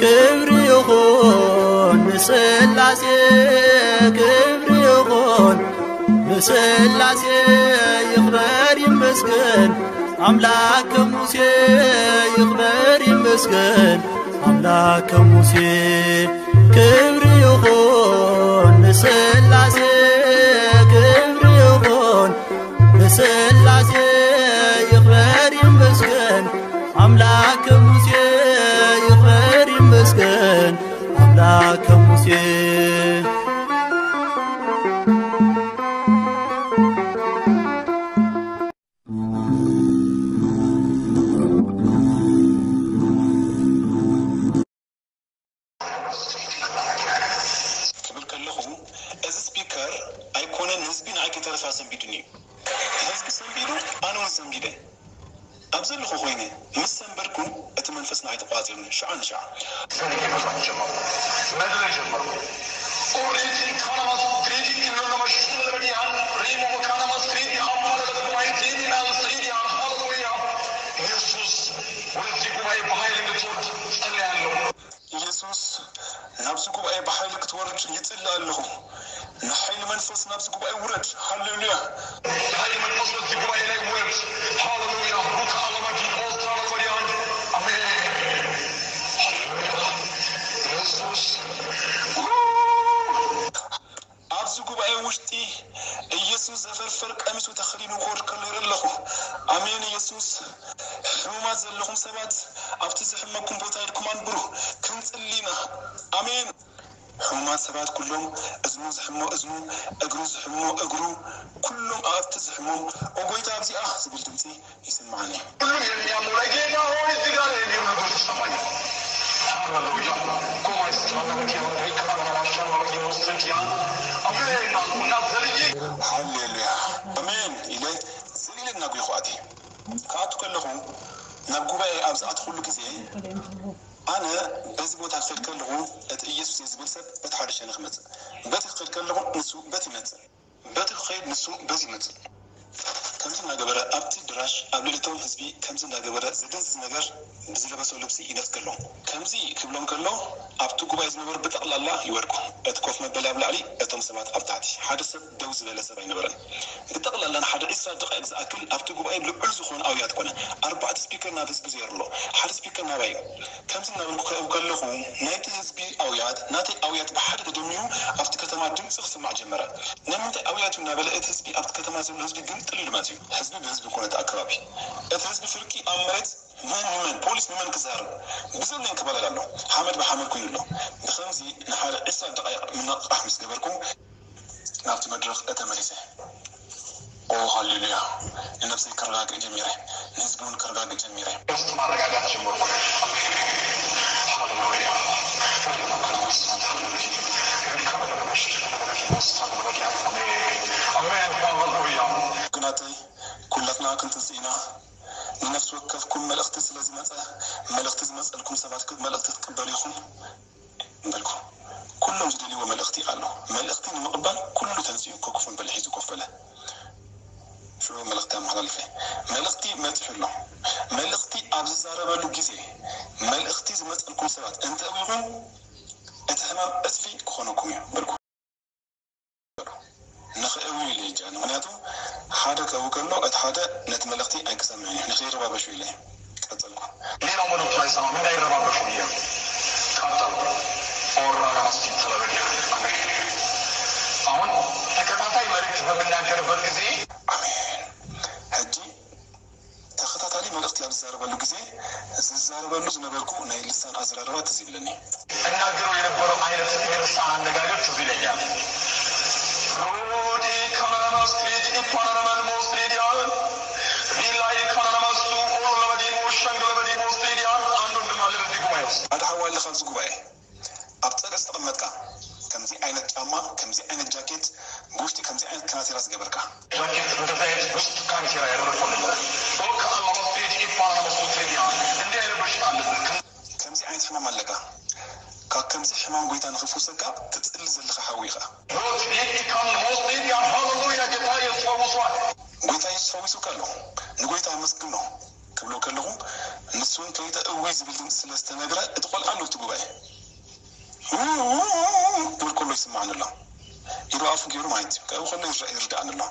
ክብሪ ይኹን ንስላሴ፣ ክብሪ ይኹን ንስላሴ፣ ይኽበር ይመስገን ኣምላክ ከሙሴ፣ ይኽበር ይመስገን ኣምላክ ከሙሴ። ክብሪ ይኹን ንስላሴ፣ ክብሪ ይኹን ንስላሴ፣ ይኽበር ይመስገን ኣምላክ ከሙሴ፣ ይኽበር ይመስገን ኣምላክ ከሙሴ። ክብል ከለኹ፣ እዚ ስፒከር ኣይኮነን ንህዝቢ ንዓይ ከይተረፈ ኣሰንቢዱኒ እዩ። ህዝቢ ሰንቢዱ፣ ኣነ እውን ሰንቢደ። ኣብ ዘለኹ ኮይነ ምስ ሰንበድኩ፣ እቲ መንፈስ ንዓይ ተቋጺሩኒ። ሽዓ ንሽዓ። ሰንቢዱ ጀመርኩ። መድረ ጀመርኩ። ኦሬዲ ካናማስ ትሬዲ ክብሎ ነመሽቱ ለበዲያን ሪሞ ካናማስ ትሬዲ ኣማለ ለበዲያን ትሬዲ። ሃሌሉያ። ኢየሱስ ወደዚህ ጉባኤ በኃይል እንድትወርድ ጸልያለሁ። ኢየሱስ ናብዚ ጉባኤ ብሓይሊ ክትወርድ ይጽሊ ኣለኹ። ንሓይሊ መንፈስ ናብዚ ጉባኤ ውረድ። ሃሌሉያ። የኃይል መንፈስ በዚህ ጉባኤ ላይ ውረድ። ሃሌሉያ። ሩካ አላማዲ ኦስታን አላማዲያን። አሜን። ሃሌሉያ። ኢየሱስ። ኣብዚ ጉባኤ ውሽጢ ኢየሱስ ዘፈርፈር ቀሚሱ ተኸዲኑ ክወርድ ከሎ ይርኢ ኣለኹ። ኣሜን። ኢየሱስ፣ ሕሙማት ዘለኹም ሰባት ኣብቲ ዝሕመኩም ቦታ ኢድኩም ኣንብሩ። ክንጽሊ ኢና። ኣሜን። ሕሙማት ሰባት ኩሎም፣ እዝኑ ዝሕሞ እዝኑ፣ እግሩ ዝሕሞ እግሩ፣ ኩሎም ኣእቲ ዝሕሞም፣ "ኦ ጎይታ፣ ኣብዚኣ" ዝብል ድምጺ ይስምዓኒ። ሁሉም የሚያሙ ላይ፣ "ጌታ ሆይ፣ እዚህ ጋር" የሚሉ ልጆች ይሰማኛል። ሃሌሉያ። ኮማይስ ሃሌሉያ። አሜን። እና ዘልዬ ሃሌሉያ። ኣሜን ኢለ ዘሊለ እናጒኹ ኣትየ። ክኣቱ ከለኹ፣ ናብ ጉባኤ ኣብ ዝኣትኹሉ ግዜ፣ ኣነ በዚ ቦታ ክኸይድ ከለኹ፣ እቲ ኢየሱስ እየ ዝብል ሰብ በቲ ሓደ ሸነኽ ይመጽእ። በቲ ክኸይድ ከለኹ፣ ንሱ በቲ ይመጽእ። በቲ ክኸይድ ንሱ በዚ ይመጽእ። ከምዚ እናገበረ ኣብቲ ኣዳራሽ ኣብ ልዕሊ እቶም ህዝቢ ከምዚ እናገበረ ዘደንዝዝ ነገር ብዝለበሶ ልብሲ ይነፍግ ኣሎ። ከምዚ ክብሎም ከሎ ኣብቲ ጉባኤ ዝነበሩ ብጠቕላላ ይወድቁ። እቲ ኮፍ መበሊ ኣብ ላዕሊ፣ እቶም ሰባት ኣብ ታሕቲ። ሓደ ሰብ ደው ዝበለ ሰብ ኣይነበረን። ብጠቕላላ ንሓደ ዕስራ ደቓይቕ ዝኣክል ኣብቲ ጉባኤ ልዑል ዝኾነ ኣውያት ኮነ። ኣርባዕተ ስፒከር ናብ ህዝቢ ዘይሩ ኣሎ። ሓደ ስፒከር ናባይ እዩ። ከምዚ እናበልኩ ከ-፣ ከለኹ ናይቲ ህዝቢ ኣውያት፣ ናተይ ኣውያት ብሓደ ተደሚሩ ኣብቲ ከተማ ድምፂ ክስማዕ ጀመረ። ናይ ምንታይ ኣውያት እዩ እናበለ እቲ ህዝቢ ኣብቲ ከተማ ዘሎ ህዝቢ ግምጥል ኢሉ መፅዩ። ህዝቢ ብህዝቢ ኮነ እቲ ኣከባቢ። እቲ ህዝቢ ፍርቂ ኣብ መሬት መን ንመን፣ ፖሊስ ንመን ክዛረብ ብዘለኝ ክባላል ኣሎ። ሓመድ ብሓመድ ኮይኑ ኣሎ። ብኸምዚ ንሓደ ዕስራ ደቓይቕ ምንቕቓሕ ምስ ገበርኩ ናብቲ መድረኽ ተመሊሰ። ኦ ሃሌሉያ! ንነብሰይ ክረጋግእ ጀሚረ፣ ንህዝቢ እውን ክረጋግእ ጀሚረ። ውስጥ ማረጋጋት ጀመርኩ። ሃሌሉያ! አሜን። ሃሌሉያ! ግናተይ ኩላትና ክንትንስእ ኢና። ንነፍሲ ወከፍኩም መልእኽቲ ስለ ዝመጸ፣ መልእኽቲ ዝመጸልኩም ሰባት ክ-፣ መልእኽቲ ክትቅበሉ ኢኹም። በልኩ። ኩሎም ዝደልይዎ መልእኽቲ ኣሎ። መልእኽቲ ንምቕባል ኩሉ ተንሲኡ ኮክፉን በለ ሒዙ ኮፍ በለ። ሽዑ መልእኽቲ ኣመሓላልፈ። መልእኽቲ መጺሑ ኣሎ። መልእኽቲ ኣብ ዝዛረበሉ ግዜ፣ መልእኽቲ ዝመጸልኩም ሰባት እንተእዊኹም፣ እቲ ሕማም ዕጽፊ ክኾነኩም እዩ በልኩ። ንኽእዊ ኢለ እጃ፣ ምኽንያቱ ሓደ ከእዊ ከሎ እቲ ሓደ ነቲ መልእኽቲ ኣይክሰምዕን እዩ፣ ንኸይረባበሹ ኢለ ቀጸልኩ። ሌላው መልእክቱ አይሰማም፣ እንዳይረባበሹ ብዬ ነው። ቀጠልኩ። ኦራ ለመስጊድ ተለበድ። አሜን። አሁን ተከታታይ መልእክት በምናገርበት ጊዜ አሜን። ሕጂ ተኸታታሊ መልእኽቲ ኣብ ዝዛረበሉ ግዜ፣ ዝዛረበሉ ዝነበርኩ ናይ ልሳን ኣዘራርባ ትዝ ይብለኒ። እናገረው የነበረው አይነት የልሳን አነጋገር ትዝ ይለኛል። ሮዲ ካናናማስ ትሪዲ ኢፓናናማን ሞስ ትሪዲያን፣ ሪላይ ካናናማስ ኦሎ ለበዲሞ ሸንግ ለበዲሞ ትሪዲያን፣ አንድ ወንድም አለ በዚህ ጉባኤ ውስጥ። ሓደ ሓው ኣለ ካብዚ ጉባኤ። ኣብ ጸገ ዝተቐመጥካ፣ ከምዚ ዓይነት ጫማ፣ ከምዚ ዓይነት ጃኬት፣ ብውሽጢ ከምዚ ዓይነት ካናቴራ ዝገበርካ። ጃኬት፣ እንደዚ ዓይነት ውስጥ ካናቴራ ያደረግኩ ነበር። ኦካ አላማስ ትሪዲ ኢፓናናማስ ትሪዲያን፣ እንዲህ አይነት በሽታ አለብህ። ከምዚ ዓይነት ሕማም ኣለካ። ካብ ከምዚ ሕማም ጎይታ ንኽፍውሰካ ትጽሊ ዘለኻ ሓዊ ኢኻ። ሞት ሊድ ኢካን ሞት ሊድ ኢካን። ሃሌሉያ፣ ጌታ ኢየሱስ ፈውሷል። ጎይታ ኢየሱስ ፈዊሱካ ኣሎ። ንጎይታ ኣመስግኖ። ክብሎ ከለኹ፣ ንሱ እውን ከይተ እወይ ዝብል ድምፂ ስለ ዝተነግረ፣ እቲ ቆልዓ ኣሎ እቲ ጉባኤ። ክብል ከሎ ይስማዓኒ ኣሎ። ኢዱ ኣፉ ገይሩ ማለት እዩ። ካብኡ ከሎ ይርዳኣኒ ኣሎ።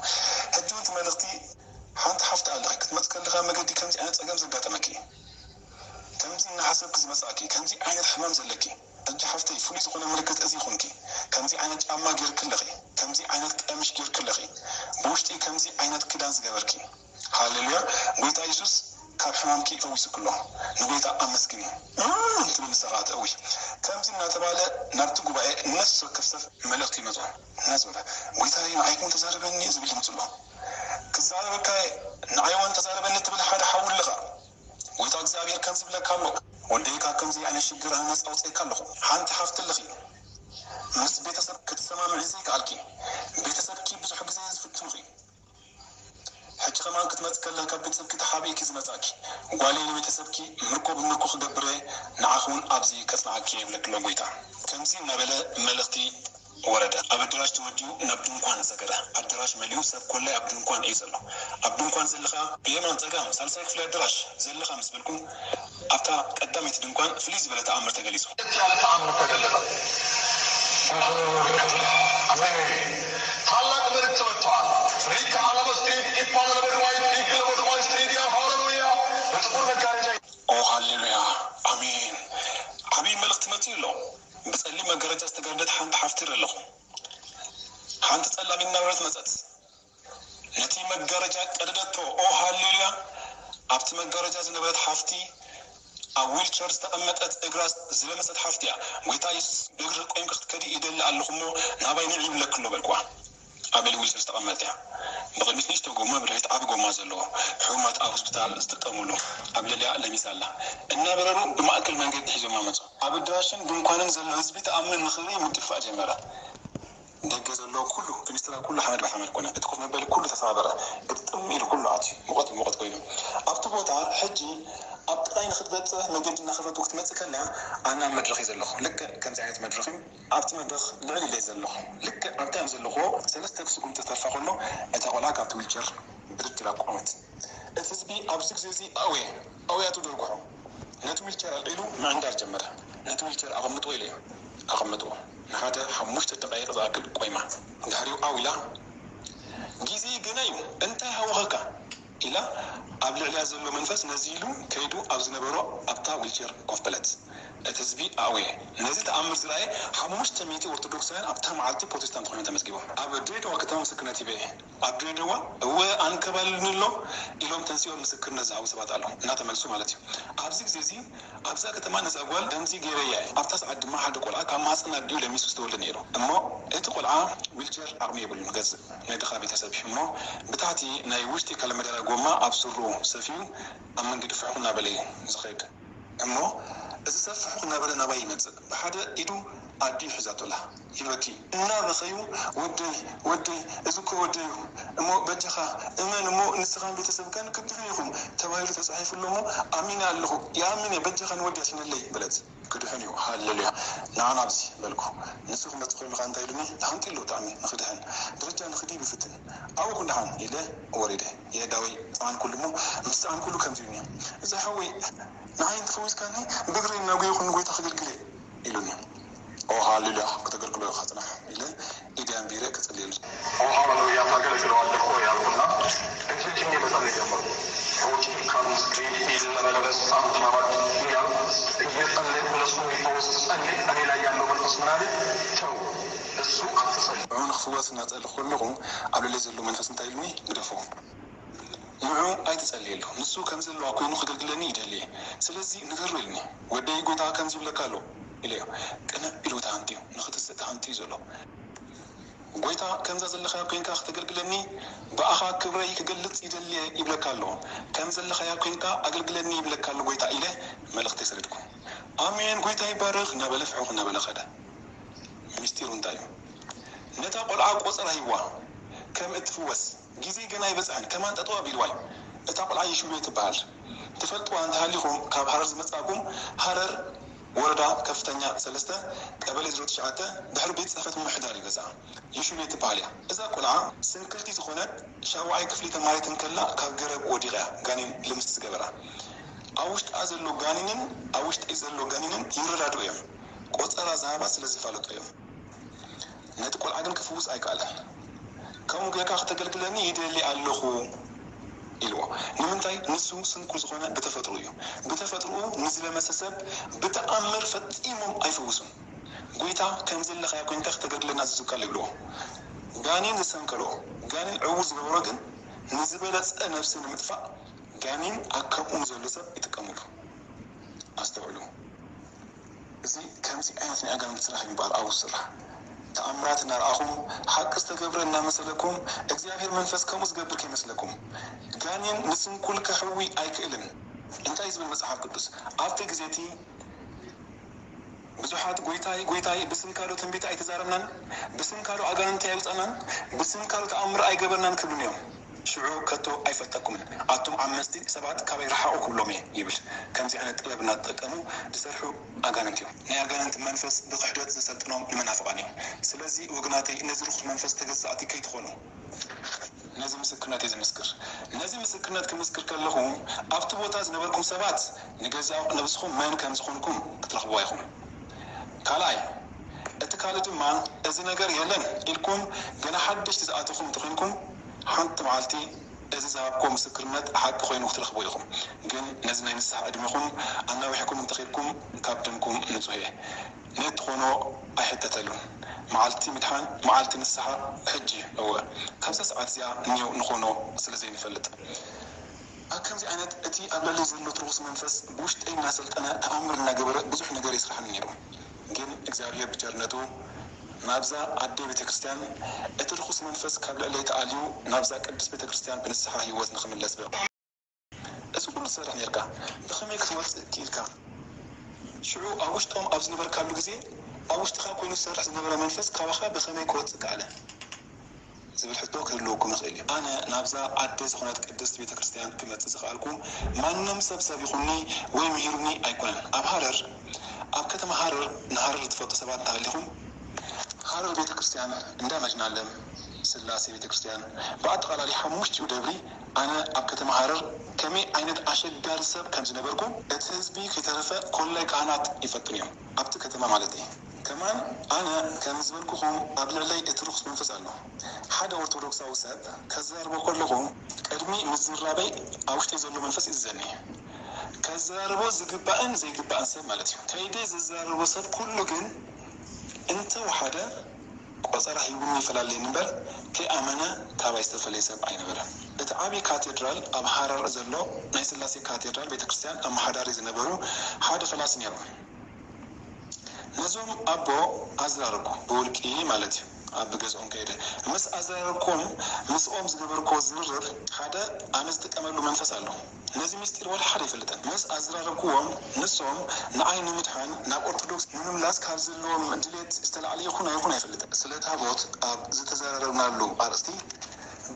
ሕጂ እውን እቲ መልእኽቲ፣ ሓንቲ ሓፍቲ ኣለኺ፣ ክትመፅ ከለኻ መገዲ ከምዚ ዓይነት ፀገም ዘጋጠመኪ፣ ከምዚ እናሓሰብኪ ዝመፃእኪ፣ ከምዚ ዓይነት ሕማም ዘለኪ፣ ሕጂ ሓፍተይ፣ ፍሉይ ዝኾነ ምልክት እዚ ይኹንኪ። ከምዚ ዓይነት ጫማ ጌርኪ ኣለኺ፣ ከምዚ ዓይነት ቀምሽ ጌርኪ ኣለኺ፣ ብውሽጢ ከምዚ ዓይነት ክዳን ዝገበርኪ። ሃሌሉያ! ጎይታ የሱስ ካብ ሕማምኪ ፈዊሱኪ ኣሎ። ንጎይታ ኣመስግኒ። እም፣ ትብል ንስኻ ትእዊ። ከምዚ እናተባለ ናብቲ ጉባኤ ነፍሲ ወከፍ ሰብ መልእኽቲ ይመጾ። እናዞረ፣ "ጎይታዬ፣ ንዓይ እውን ተዛረበኒ" ዝብል ድምጺ ኣሎ። "ክዛረበካ እየ፣ ንዓይ እውን ተዛረበኒ" ትብል ሓደ ሓው ኣለኻ። ጎይታ እግዚኣብሔር ከምዚ ይብለካ ኣሎ፣ "ወደይ፣ ካብ ከምዚ ዓይነት ሽግር ኣነ ነጻ ኣውጽኤካ ኣለኹ። ሓንቲ ሓፍቲ ኣለኺ፣ ምስ ቤተሰብ ክትሰማምዒ ዘይከኣልኪ፣ ቤተሰብኪ ብዙሕ ግዜ ዝፍትኑኺ፣ ሕጂ ከማን ክትመጽእ ከለኺ ካብ ቤተሰብኪ ተሓቢእኪ ዝመጻእኪ፣ ጓለይ፣ ንቤተሰብኪ ምርኮ ብምርኮ ክገብር እየ፣ ንዓኺ እውን ኣብዚ ከጽንዓኪ እየ" ይብለኪ ኣሎ ጎይታ። ከምዚ እናበለ መልእኽቲ ወረደ። ኣብ ኣዳራሽ ተወዲኡ ናብ ድንኳን ሰገረ። ኣዳራሽ መሊኡ ሰብ ኮላይ ኣብ ድንኳን እዩ ዘሎ። ኣብ ድንኳን ዘለኻ ብየማን ጸጋም ሳልሳይ ክፍሊ ኣዳራሽ ዘለኻ ምስ በልኩ፣ ኣብታ ቀዳመይቲ ድንኳን ፍልይ ዝበለ ተኣምር ተገሊጹ። ያለ ተኣምር ተገለጠ። ታላቅ መልእክት መጥተዋል። ሪካ አለመ ስትሪት ኢፓ ለመድዋይ ሪክ ለመድዋይ ስትሪት ያ ሃሌሉያ። በጥቁር መጋረጃ ኦ ሃሌሉያ፣ ኣሜን። ዓብዪ መልእኽቲ መጺኡ ኣሎ። ብጸሊም መጋረጃ ዝተጋረደት ሓንቲ ሓፍቲ ይርኢ ኣለኹ። ሓንቲ ጸላም እናበረት መጸት። ነቲ መጋረጃ ቀደደቶ። ኦ ሃሌሉያ! ኣብቲ መጋረጃ ዝነበረት ሓፍቲ፣ ኣብ ዊልቸር ዝተቐመጠት፣ እግራ ዝለመሰት ሓፍቲ እያ። "ጎይታ የሱስ፣ ብእግሪ ቆይምኪ ክትከዲ ይደሊ ኣለኹ እሞ፣ ናባይ ንዒ ይብለኪ ኣሎ" በልኩዋ። ኣብ ልዕሊ ዊልቸር ዝተቐመጠት እያ። ብቕድሚት ንእሽቶ ጎማ፣ ብድሕሪት ዓቢ ጎማ ዘለዎ፣ ሕሙማት ኣብ ሆስፒታል ዝጥቀሙሉ፣ ኣብ ልዕሊኣ ለሚሳ ኣላ። እናበረሩ ብማእከል መንገዲ ሒዞማ መጹ። ኣብ ኣዳራሽን ድንኳንን ዘሎ ህዝቢ ተኣምር ንኽርኢ ምድፋእ ጀመረ። ደገ ዘሎ ኩሉ፣ ፊኒስትራ ኩሉ ሓመድ ብሓመድ ኮነ። እቲ ኮፍ መበሊ ኩሉ ተሰባበረ። ግጥም ኢሉ ኩሉ ኣትዩ። ሙቐት ብሙቐት ኮይኑ። ኣብቲ ቦታ ሕጂ ኣብ ጥቓይ ንኽትበጽሕ መገዲ እናኸፈቱ ክትመጽእ ከላ፣ ኣነ ኣብ መድረኽ እየ ዘለኹ። ልክዕ ከምዚ ዓይነት መድረኽ እዩ። ኣብቲ መድረኽ ልዕል ኢለ እየ ዘለኹ። ልክዕ ኣብታ እየ ዘለኹ። ሰለስተ ስጉምቲ ተርፋ ከሎ፣ እታ ቆልዓ ካብቲ ዊልቸር ብድድ ኢላ ቆመት። እቲ ህዝቢ ኣብዚ ግዜ እዚ ኣውየ ኣውያቱ ደርጉሑ ነቲ ዊልቸር ኣልዒሉ ምዕንዳር ጀመረ። "ነቲ ዊልቸር ኣቐምጥዎ" ኢለዮ። ኣቐመጥዎ። ንሓደ ሓሙሽተ ደቓይቕ ዝኣክል ቆይማ። ድሕሪኡ ኣው ኢላ፣ "ግዜ ገና እዩ፣ እንታይ ሃወኸካ?" ኢላ ኣብ ልዕሊያ ዘሎ መንፈስ ነዚ ኢሉ ከይዱ ኣብ ዝነበሮ ኣብታ ዊልቸር ኮፍ በለት። እቲ ህዝቢ ኣእወየ። ነዚ ተኣምር ዝረኣየ ሓሙሽተ ሚእቲ ኦርቶዶክሳውያን ኣብታ መዓልቲ ፕሮቴስታንት ኮይኖም ተመዝጊቦም። ኣብ ድሬዳዋ ከተማ ምስክርነት ሂበ እየ። ኣብ ድሬዳዋ እወ ኣንከባልልኒ ኣሎ ኢሎም ተንሲኦም ምስክርነት ዝሃቡ ሰባት ኣለዉ፣ እናተመልሱ ማለት እዩ። ኣብዚ ግዜ እዚ ኣብዛ ከተማ ነዛ ጓል ከምዚ ገይረያ እየ። ኣብታ ሰዓት ድማ ሓደ ቆልዓ ካብ ማህፀን ኣዲኡ ለሚሱ ዝተወልደ ነይሩ። እሞ እቲ ቆልዓ ዊልቸር ዓቕሚ የብሉን ክገዝእ፣ ናይ ድኻ ቤተሰብ እዩ። እሞ ብታሕቲ ናይ ውሽጢ ካለመዳርያ ጎማ ኣብ ስሩ ሰፊዩ ኣብ መንገዲ ፍሕኹ እናበለ እዩ ዝኸይድ። እሞ እዚ ሰብ ፍሕኹ እናበለ ናባይ ይመጽእ። ብሓደ ኢዱ ኣዲኡ ሒዛቶ ኣላ። ይበኪ። እናበኸዩ፣ "ወደይ፣ ወደይ፣ እዚ እኮ ወደይ እዩ። እሞ በጃኻ እመን እሞ ንስኻን ቤተሰብካን ክትድሕኑ ኢኹም" ተባሂሉ ተጻሒፉ ኣሎ እሞ ኣሚነ ኣለኹ። ይኣምን እየ፣ በጃኻ ንወዲ ኣድሕነለይ በለት። ክድሕን እዩ። ሃሌሉያ። ንዓ ናብዚ በልኩ። ንሱ ክመጽእ ከሎ ከኣ እንታይ ኢሉኒ? ተሃንጢ ኣሎ ብጣዕሚ ንኽድሕን። ደረጃ ንኽድይብ ይፍትን። ኣብኡ ኩን ደሓን ኢለ ወሪደ። የእዳወይ ጸዓንኩሉ እሞ ምስ ጸዓንኩሉ ከምዚ ኢሉኒ። "እዚ ሓወይ ንዓይ እንተፈዊስካኒ ብእግረይ እናጎየኹ ንጎይታ ከገልግል እየ" ኢሉኒ። "ኦ ሃሌሉያ፣ ክተገልግሎ ኢኻ ጽናሕ" ኢለ ኢደይ ኣንቢረ ክጽልየሉ። "ኦ ሃሌሉያ፣ ታገለግለዋለህ ሆይ" ኣልኩና እጅግ መጸለይ ጀመርኩ። "ኦ ጂም ካርልስ ግሪን ሂል ለመለበስ ሳንት ማራድ" እያልኩ እየጸለይኩ ለሱ የሚፈወስ ጸልይ፣ እኔ ላይ ያለው መንፈስ ምን አለ? "ተው፣ እሱ አትጸልይ" ንዕኡ ንኽፍወስ እናጸለኹ ከለኹ ኣብ ልዕለይ ዘሎ መንፈስ እንታይ ኢሉኒ? "ግደፎ። ንዑ ኣይትጸልየሉ። ንሱ ከም ዘለዋ ኮይኑ ከገልግለኒ ይደሊ እየ። ስለዚ ንገሮ" ኢሉኒ። "ወደይ፣ ጎይታ ከምዚ ይብለካ ኣሎ" ኢለዮ። ቅንዕ ኢሉ ተሃንጥዩ፣ ንኽትስእ ተሃንጥዩ ዘሎ። "ጎይታ፣ ከምዛ ዘለኻያ ኮይንካ ከተገልግለኒ፣ ብኣኻ ክብረይ ክገልጽ ይደሊ እየ ይብለካ ኣሎ። ከም ዘለኻያ ኮይንካ ኣገልግለኒ ይብለካ ኣሎ ጎይታ" ኢለ መልእኽተይ ሰደድኩ። "ኣሜን፣ ጎይታ ይባረኽ" እናበለ ፍሕኹ እናበለ ኸደ። ምስጢሩ እንታይ እዩ? ነታ ቆልዓ ቆጸራ ሂብዋ፣ ከም እትፍወስ፣ ግዜ ገና ኣይበጽሐን፣ ከማን ጠጠው ኣቢልዋ እዩ። እታ ቆልዓ የሽውየ ትበሃል። ትፈልጥዋ እንተሃሊኹም፣ ካብ ሃረር ዝመጻእኩም፣ ሃረር ወረዳ ከፍተኛ ሰለስተ ቀበሌ ዜሮ ትሽዓተ ድሕሪ ቤት ጽሕፈት ምምሕዳር እዩ ገዝኣ። ዮሽቤ ትበሃል እያ። እዛ ቆልዓ ስንክልቲ ዝኾነት ሻውዓይ ክፍሊ ተማሪት እንከላ ካብ ገረብ ወዲቓ እያ ጋኔን ልምስ ዝገበራ። ኣብ ውሽጣ ዘሎ ጋኔንን ኣብ ውሽጠይ ዘሎ ጋኔንን ይረዳድኡ እዮም። ቆጸራ ዝሃባ ስለ ዝፋለጡ እዮም። ነቲ ቆልዓ ግን ክፍውስ ኣይከኣለን። ከምኡ ጌርካ ክተገልግለኒ ይደሊ ኣለኹ ኢልዎ። ንምንታይ? ንሱ ስንኩል ዝኾነ ብተፈጥሮ እዩ። ብተፈጥሮኡ ንዝለመሰ ሰብ ብተኣምር ፈጺሞም ኣይፍውሱን። ጎይታ ከም ዘለኻዮ ኮይንካ ክተገልግለና ኣዚዙካ ኣሎ ይብልዎ። ጋኔን ዘሰንከሎ፣ ጋኔን ዕዉር ዝገበሮ ግን ንዝበለጸ ነብሲ ንምጥፋእ ጋኔን ኣብ ከምኡ ንዘሎ ሰብ ይጥቀምሉ። ኣስተውዕሉ። እዚ ከምዚ ዓይነት ናይ ኣጋንንቲ ስራሕ ይበሃል ኣብኡ ዝስራሕ። ተኣምራት እናረኣኹም፣ ሓቂ ዝተገብረ እናመሰለኩም፣ እግዚኣብሔር መንፈስ ከምኡ ዝገብር ከይመስለኩም። ጋኔን ንስንኩል ከሕዊ ኣይክእልን። እንታይ ዝብል መጽሓፍ ቅዱስ? ኣብቲ ግዜ እቲ ብዙሓት "ጐይታይ፣ ጐይታይ፣ ብስምካ ዶ ትንቢት ኣይተዛረብናን? ብስምካ ዶ ኣጋንንቲ ኣይውጻእናን? ብስምካ ዶ ተኣምር ኣይገበርናን?" ክብሉኒ እዮም። ሽዑ ከቶ ኣይፈልጠኩምን። ኣቱም ዓመጽቲ ሰባት ካባይ ረሓቑ ክብሎም እየ ይብል። ከምዚ ዓይነት ጥበብ እናተጠቀሙ ዝሰርሑ ኣጋንንቲ እዮም። ናይ ኣጋንንቲ መንፈስ ብክሕደት ዘሰልጥኖም ንመናፍቓን እዮም። ስለዚ ወገናተይ ነዚ ርኹስ መንፈስ ተገዛእቲ ከይትኾኑ። ነዚ ምስክርነት እየ ዝምስክር። ነዚ ምስክርነት ክምስክር ከለኹ ኣብቲ ቦታ ዝነበርኩም ሰባት ንገዛእ ነብስኹም መን ከም ዝኾንኩም ክትረኽብዋ ኢኹም። ካልኣይ፣ እቲ ካልእ ድማ እዚ ነገር የለን ኢልኩም ገና ሓደሽቲ ዝኣተኹም እንተኾይንኩም ሓንቲ መዓልቲ እዚ ዝሃብክዎ ምስክርነት ሓቂ ኮይኑ ክትረኽብዎ ኢኹም። ግን ነዚ ናይ ንስሓ ዕድመኹም ኣናዊሕኩም እንተኺድኩም ካብ ደምኩም ንጹህ እየ። ነቲ ኾኖ ኣይሕተተሉን። መዓልቲ ምድሓን፣ መዓልቲ ንስሓ ሕጂ፣ እወ፣ ካብዛ ሰዓት እዚኣ እኒኦ ንኾኖ ስለ ዘይንፈልጥ። ኣብ ከምዚ ዓይነት እቲ ኣብ ልዕለይ ዘሎ ርኹስ መንፈስ ብውሽጠይ እናሰልጠነ ተኣምር እናገበረ ብዙሕ ነገር የስርሓኒ ነይሩ። ግን እግዚኣብሔር ብቸርነቱ ናብዛ ኣደይ ቤተ ክርስቲያን እቲ ርኹስ መንፈስ ካብ ልዕለይ ተኣልዩ ናብዛ ቅድስት ቤተ ክርስቲያን ብንስሓ ህይወት ንኽምለስ በቕዑ። እዚ ኩሉ ትሰርሕ ነርካ፣ ብኸመይ ክትወጽእ ክኢልካ? ሽዑ ኣብ ውሽጦም ኣብ ዝነበርካሉ ግዜ፣ ኣብ ውሽጥኻ ኮይኑ ዝሰርሕ ዝነበረ መንፈስ ካባኻ ብኸመይ ክወጽእ ከኣለ? ዝብል ሕቶ ክህልወኩም ይኽእል እዩ። ኣነ ናብዛ ኣደ ዝኾነት ቅድስት ቤተ ክርስቲያን ክመጽእ ዝኸኣልኩ ማንም ሰብ ሰብ ይኹንኒ ወይ ምሂሩኒ ኣይኮነን። ኣብ ሃረር፣ ኣብ ከተማ ሃረር፣ ንሃረር ዝትፈልጡ ሰባት እንተሃሊኹም፣ ሃረር ቤተ ክርስቲያን እንዳ መድኃኔዓለም ስላሴ ቤተ ክርስቲያን ብኣጠቓላሊ ሓሙሽቲኡ ደብሪ ኣነ ኣብ ከተማ ሃረር ከመይ ዓይነት ኣሸጋሪ ሰብ ከም ዝነበርኩ እቲ ህዝቢ ከይተረፈ ኮላይ ካህናት ይፈልጡኒ እዮም። ኣብቲ ከተማ ማለት እዩ። ከማን ኣነ ከም ዝበልኩኹም ኣብ ልዕለይ እቲ ርኹስ መንፈስ ኣሎ። ሓደ ኦርቶዶክሳዊ ሰብ ከዘራርቦ ከለኹ ቅድሚ ምዝራበይ ኣብ ውሽጠይ ዘሎ መንፈስ ይእዝዘኒ። ከዘራርቦ ዝግባእን ዘይግባእን ሰብ ማለት እዩ። ከይደ ዝዘራርቦ ሰብ ኩሉ ግን እንተወሓደ ቆጸራ ሂቡኒ ይፈላለየኒ እምበር ከይኣመነ ካባይ ዝተፈለየ ሰብ ኣይነበረን። እቲ ዓብዪ ካቴድራል ኣብ ሃረር ዘሎ ናይ ስላሴ ካቴድራል ቤተክርስትያን ኣመሓዳሪ ዝነበሩ ሓደ ፈላሲ ነይሮም። ነዞም ኣቦ ኣዘራረብኩ፣ ብውልቂ ማለት እዩ። ኣብ ገዝኦም ከይደ ምስ ኣዘራረብኩዎም ምስኦም ዝገበርኩዎ ዝርርብ ሓደ ኣነ ዝጥቀመሉ መንፈስ ኣሎ። ነዚ ምስጢር ወላ ሓደ ኣይፈልጥን። ምስ ኣዘራረብኩዎም ንሶም ንዓይ ንምድሓን ናብ ኦርቶዶክስ ንምምላስ ካብ ዘለዎም ድሌት ዝተላዕለ ይኹን ኣይኹን ኣይፈልጥን። ስለ ታቦት ኣብ ዝተዘራረብናሉ ኣርእስቲ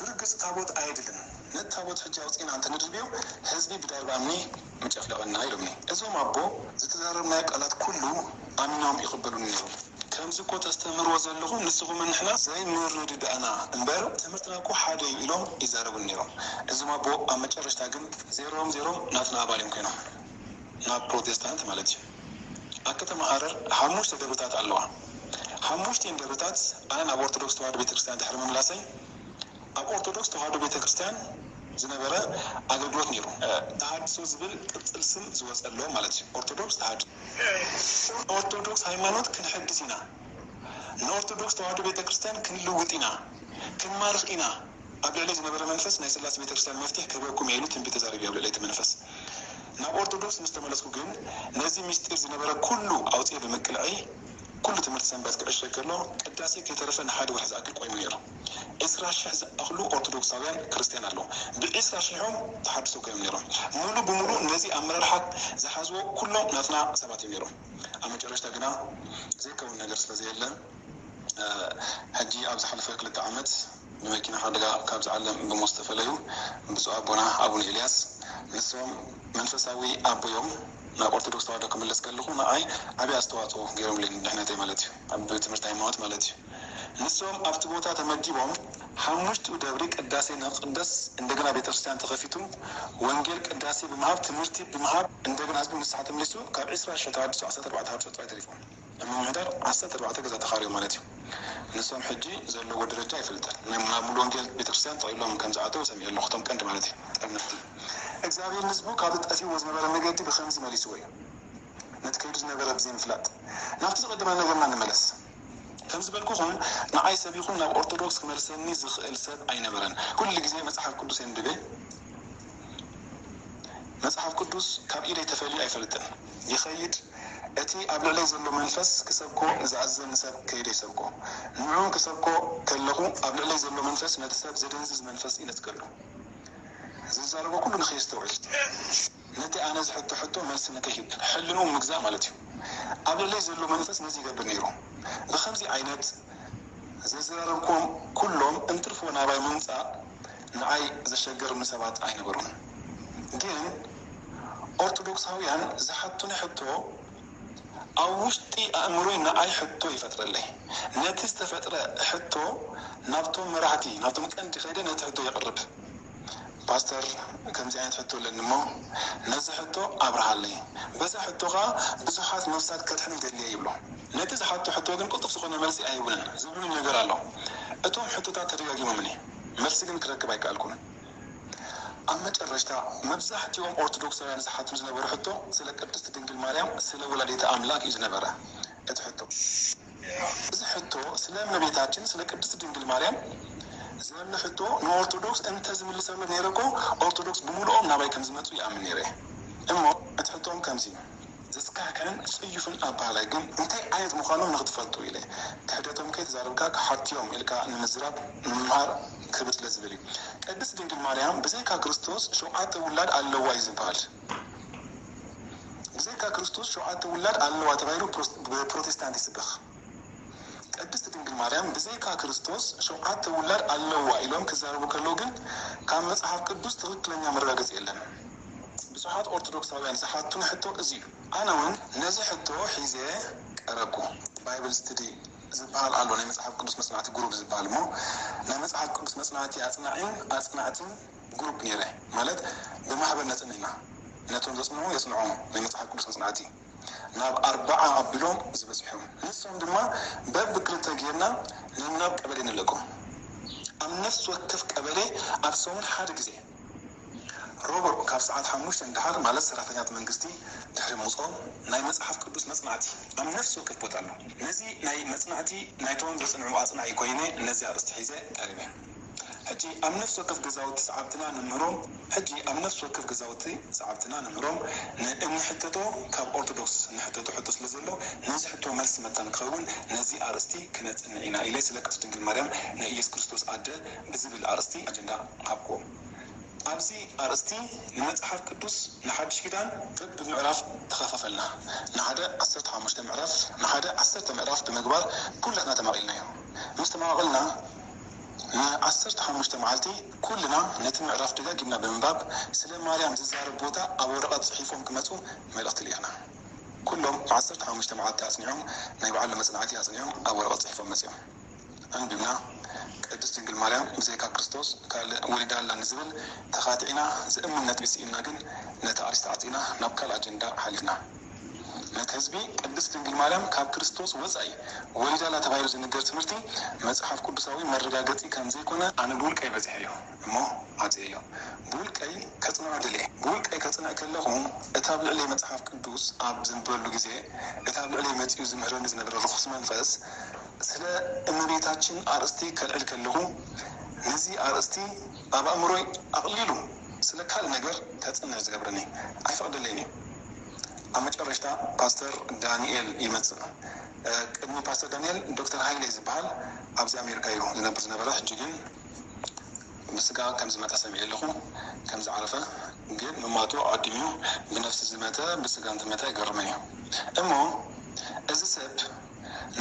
ብርግጽ ታቦት ኣየድልን፣ ነቲ ታቦት ሕጂ ኣውጺእና እንተንድርብዮ ህዝቢ ብዳርባ እምኒ ምጨፍለቐና ኢሎምኒ። እዞም ኣቦ ዝተዘራረብናዮ ቃላት ኩሉ ኣሚኖም ይቕበሉኒ ነይሮም። ከምዚ እኮ ተስተምህርዎ ዘለኹም ንስኹምን ንሕና ዘይምርድዳእና እምበር ትምህርትና እኮ ሓደ እዩ ኢሎም ይዛረቡኒ ነይሮም። እዞም ኣቦ ኣብ መጨረሽታ ግን ዜሮም ዜሮም ናትና ኣባል እዮም ኮይኖም። ናብ ፕሮቴስታንት ማለት እዩ። ኣብ ከተማ ሃረር ሓሙሽተ ደብርታት ኣለዋ። ሓሙሽቲኤን ደብርታት ኣነ ናብ ኦርቶዶክስ ተዋህዶ ቤተክርስትያን ድሕሪ ምምላሰይ ኣብ ኦርቶዶክስ ተዋህዶ ቤተክርስትያን ዝነበረ ኣገልግሎት ነይሩ። ተሃድሶ ዝብል ቅጽል ስም ዝወጸሎም ማለት እዩ። ኦርቶዶክስ ተሃድሶ። ኦርቶዶክስ ሃይማኖት ክንሕድስ ኢና፣ ንኦርቶዶክስ ተዋህዶ ቤተክርስትያን ክንልውጥ ኢና፣ ክንማርኽ ኢና። ኣብ ልዕለይ ዝነበረ መንፈስ ናይ ስላሴ ቤተክርስትያን መፍትሕ ክህበኩም እየ ኢሉ ትንቢት ተዛሪቡ ኣብ ልዕለይ እቲ መንፈስ። ናብ ኦርቶዶክስ ምስ ተመለስኩ ግን ነዚ ምስጢር ዝነበረ ኩሉ ኣውፅኤ ብምቅልዐይ ኩሉ ትምህርቲ ሰንበት ክዕሸግ ከሎ ቅዳሴ ከይተረፈ ንሓደ ወርሒ ዝኣክል ቆይሙ ነይሩ። ዕስራ ሽሕ ዝኣኽሉ ኦርቶዶክሳውያን ክርስትያን ኣለዉ። ብዕስራ ሽሖም ተሓድሶ ኮይኖም ነይሮም። ሙሉ ብሙሉ ነዚ ኣመራርሓ ዝሓዝዎ ኩሎም ናትና ሰባት እዮም ነይሮም። ኣብ መጨረሽታ ግና ዘይከውን ነገር ስለ ዘየለ ሕጂ ኣብ ዝሓለፈ ክልተ ዓመት ብመኪና ሓደጋ ካብዚ ዓለም ብሞት ዝተፈለዩ ብፁዕ ኣቦና ኣቡነ ኤልያስ፣ ንሶም መንፈሳዊ ኣቦዮም ናብ ኦርቶዶክስ ተዋህዶ ክምለስ ከለኹ ንኣይ ዓብዪ ኣስተዋፅኦ ገይሮምለይ፣ ድሕነተይ ማለት እዩ፣ ኣብ ትምህርቲ ሃይማኖት ማለት እዩ። ንሶም ኣብቲ ቦታ ተመዲቦም ሓሙሽቲኡ ደብሪ ቅዳሴ ንክቅደስ እንደገና ቤተክርስትያን ተኸፊቱ ወንጌል ቅዳሴ ብምሃብ ትምህርቲ ብምሃብ እንደገና ህዝቢ ንስሓ ተመሊሱ ካብ ዕስራ ሽሕ ተዋህዶ ዓሰርተ ኣርባዕተ ሃብቶ ጥራይ ተሪፎም። ኣብ ምምሕዳር ዓሰርተ ኣርባዕተ ገዛ ተኻርዮም ማለት እዩ። ንሶም ሕጂ ዘለዎ ደረጃ ኣይፈልጠን። ናይ ናብ ሙሉ ወንጌል ቤተክርስትያን ጠቕሊሎም ከም ዝኣተው ሰሚዐ ኣለኹ። እቶም ቀንዲ ማለት እዩ ጠርነፍቲ እግዚኣብሔር ንህዝቡ ካብ ጠፊዎ ዝነበረ መገዲ ብኸምዚ መሊስዎ እዩ። ነቲ ከይዱ ዝነበረ ብዘይ ምፍላጥ ናብቲ ዝቐደመ ነገርና ንመለስ። ከም ዝበልኩኹም ንዓይ ሰብ ይኹን ናብ ኦርቶዶክስ ክመልሰኒ ዝኽእል ሰብ ኣይነበረን። ኩሉ ግዜ መጽሓፍ ቅዱስ የንብበ። መጽሓፍ ቅዱስ ካብ ኢደይ ተፈልዩ ኣይፈልጥን። ይኸይድ እቲ ኣብ ልዕለይ ዘሎ መንፈስ ክሰብኮ ዝኣዘኒ ሰብ ከይደ ይሰብኮ። ንዑ ክሰብኮ ከለኹ ኣብ ልዕለይ ዘሎ መንፈስ ነቲ ሰብ ዘደንዝዝ መንፈስ ይነጽገሉ። ዝዛረቦ ኩሉ ንኸየስተውዕል ነቲ ኣነ ዝሕቶ ሕቶ መልሲ ንክህብ ሕልንኡ ምግዛእ ማለት እዩ። ኣብ ልዕለይ ዘሎ መንፈስ ነዚ ይገብር ነይሩ። ብኸምዚ ዓይነት ዘዘራረብኩም ኩሎም እንትርፎ ናባይ ምምፃእ ንዓይ ዘሸገርኒ ሰባት ኣይነበሩን። ግን ኦርቶዶክሳውያን ዝሓቱኒ ሕቶ ኣብ ውሽጢ ኣእምሮይ ንዓይ ሕቶ ይፈጥረለይ። ነቲ ዝተፈጥረ ሕቶ ናብቶም መራሕቲ ናብቶም ቀንዲ ከይደ ነቲ ሕቶ የቕርብ። ፓስተር ከምዚ ዓይነት ሕቶ ኣለኒ እሞ ነዚ ሕቶ ኣብርሃለይ። በዛ ሕቶ ኸዓ ብዙሓት ነፍሳት ከድሕን ይደልየ ይብሎ። ነቲ ዝሓቶ ሕቶ ግን ቅልጡፍ ዝኾነ መልሲ ኣይህቡንን ዝብሉኒ ነገር ኣሎ። እቶም ሕቶታት ተደጋጊሞምኒ መልሲ ግን ክረክብ ኣይከኣልኩን። ኣብ መጨረሽታ መብዛሕትኦም ኦርቶዶክሳውያን ዝሓትሉ ዝነበሩ ሕቶ ስለ ቅድስቲ ድንግል ማርያም ስለ ወላዲተ ኣምላክ እዩ ዝነበረ እቲ ሕቶ። እዚ ሕቶ ስለ እመቤታችን ስለ ቅድስቲ ድንግል ማርያም ዘለ ሕቶ ንኦርቶዶክስ እንተዝምልሰሉ ነይረ እኮ ኦርቶዶክስ ብምልኦም ናባይ ከምዝመፁ ይኣምን ነይረ። እሞ እቲ ሕቶም ከምዚ እዩ። ዘስካሕክሕን ፅዩፍን ኣባህላይ ግን እንታይ ዓይነት ምዃኖም ንክትፈልጡ ኢለ። ክሕደቶም ከይተዛረብካ ክሓትዮም ኢልካ ንምዝራብ ምምሃር ክብር ስለ ዝብል እዩ። ቅድስት ድንግል ማርያም ብዘይካ ክርስቶስ ሸውዓተ ውላድ ኣለዋ እዩ ዝበሃል። ብዘይካ ክርስቶስ ሸውዓተ ውላድ ኣለዋ ተባሂሉ ብፕሮቴስታንት ይስበኽ። ቅድስት ድንግል ማርያም ብዘይካ ክርስቶስ ሸውዓተ ውላድ ኣለዋ ኢሎም ክዛረቡ ከለዉ ግን ካብ መጽሓፍ ቅዱስ ትኽክለኛ መረጋገጺ የለን። ብዙሓት ኦርቶዶክሳውያን ዝሓቱኒ ሕቶ እዚ እዩ። ኣነ እውን ነዚ ሕቶ ሒዘ ቀረብኩ። ባይብል ስትዲ ዝበሃል ኣሎ፣ ናይ መጽሓፍ ቅዱስ መጽናዕቲ ግሩፕ ዝበሃል እሞ ናይ መጽሓፍ ቅዱስ መጽናዕቲ ኣጽናዒን ኣጽናዕትን ግሩፕ ነይረ። ማለት ብማሕበር ነጽንዕ ኢና። ነቶም ዘጽንዑ የጽንዖም ናይ መጽሓፍ ቅዱስ መጽናዕቲ ናብ ኣርባዓ ኣቢሎም ዝበጽሑ እዮም። ንሶም ድማ በብክልተ ጌርና ነናብ ቀበሌ ንልእኮም። ኣብ ነፍሲ ወከፍ ቀበሌ ኣብ ሰሙን ሓደ ግዜ ሮቡዕ ካብ ሰዓት ሓሙሽተ ንደሓር ማለት ሰራሕተኛት መንግስቲ ድሕሪ ምውፅኦም ናይ መፅሓፍ ቅዱስ መፅናዕቲ ኣብ ነፍሲ ወከፍ ቦታ ኣሎ። ነዚ ናይ መፅናዕቲ ናይቶም ዘፅንዑ ኣፅናዒ ኮይነ ነዚ ኣርእስቲ ሒዘ ቀሪበ። ሕጂ ኣብ ነፍሲ ወከፍ ገዛውቲ ሰዓብትና ንምህሮም ሕጂ ኣብ ነፍሲ ወከፍ ገዛውቲ ሰዓብትና ንምህሮም ን- እንሕተቶ ካብ ኦርቶዶክስ ንሕተቶ ሕቶ ስለ ዘሎ ነዚ ሕቶ መልሲ መታን ክኸውን ነዚ ኣርእስቲ ክነጽንዕ ኢና ኢለ ስለ ቅድስት ድንግል ማርያም ናይ ኢየሱስ ክርስቶስ ኣደ ብዝብል ኣርእስቲ ኣጀንዳ ሃብክዎም። ኣብዚ ኣርእስቲ ንመጽሓፍ ቅዱስ ንሓድሽ ኪዳን በብምዕራፍ ተኸፋፈልና። ንሓደ ዓሰርተ ሓሙሽተ ምዕራፍ ንሓደ ዓሰርተ ምዕራፍ ብምግባር ኩላትና ተማቒልናዮ። ምስ ተማቓቐልና ንዓሰርተ ሓሙሽተ መዓልቲ ኩልና ነቲ ምዕራፍ ደጋጊምና ብምንባብ ስለ ማርያም ዝዛረብ ቦታ ኣብ ወረቐት ጽሒፎም ክመጹ መልእኽቲ ልኢኽና። ኩሎም ዓሰርተ ሓሙሽተ መዓልቲ ኣጽኒዖም ናይ ባዕሎም መጽናዕቲ ኣጽኒዖም ኣብ ወረቐት ጽሒፎም መጺኦም። ኣንቢብና ቅድስት ድንግል ማርያም ብዘይካ ክርስቶስ ካልእ ወሊዳ ኣላ ንዝብል ተኻቲዕና ዝእምን ነጥቢ ስኢንና ግን ነቲ ኣርእስቲ ዓጺና ናብ ካልእ ኣጀንዳ ሓሊፍና። ነቲ ህዝቢ ቅድስት ድንግል ማርያም ካብ ክርስቶስ ወጻኢ ወሊዳ ኣላ ተባሂሉ ዝንገር ትምህርቲ መጽሓፍ ቅዱሳዊ መረጋገጺ ከም ዘይኮነ ኣነ ብውልቀይ በጺሐዮ እሞ ዓጽየዮ። ብውልቀይ ከጽንዖ ደልየ። ብውልቀይ ከጽንዕ ከለኹ እታ ኣብ ልዕለይ መጽሓፍ ቅዱስ ኣብ ዘንብበሉ ግዜ እታ ኣብ ልዕለይ መጺኡ ዝምህረኒ ዝነበረ ርኹስ መንፈስ ስለ እመቤታችን ኣርእስቲ ከልዕል ከለኹ ነዚ ኣርእስቲ ኣብ ኣእምሮይ ኣቕሊሉ ስለ ካልእ ነገር ከጽንዕ ዝገብረኒ ኣይፈቕደለይን እዩ። ኣብ መጨረሽታ ፓስተር ዳንኤል ይመጽእ። ቅድሚ ፓስተር ዳንኤል ዶክተር ሃይለ ዝበሃል ኣብዚ ኣሜሪካ እዩ ዝነብር ዝነበረ። ሕጂ ግን ብስጋ ከም ዝመተ ሰሚዐ ኣለኹ፣ ከም ዝዓረፈ ግን ምማቱ ኣቐዲሙ እዩ። ብነፍሲ ዝመተ ብስጋ እንትመተ ኣይገርምን እዩ። እሞ እዚ ሰብ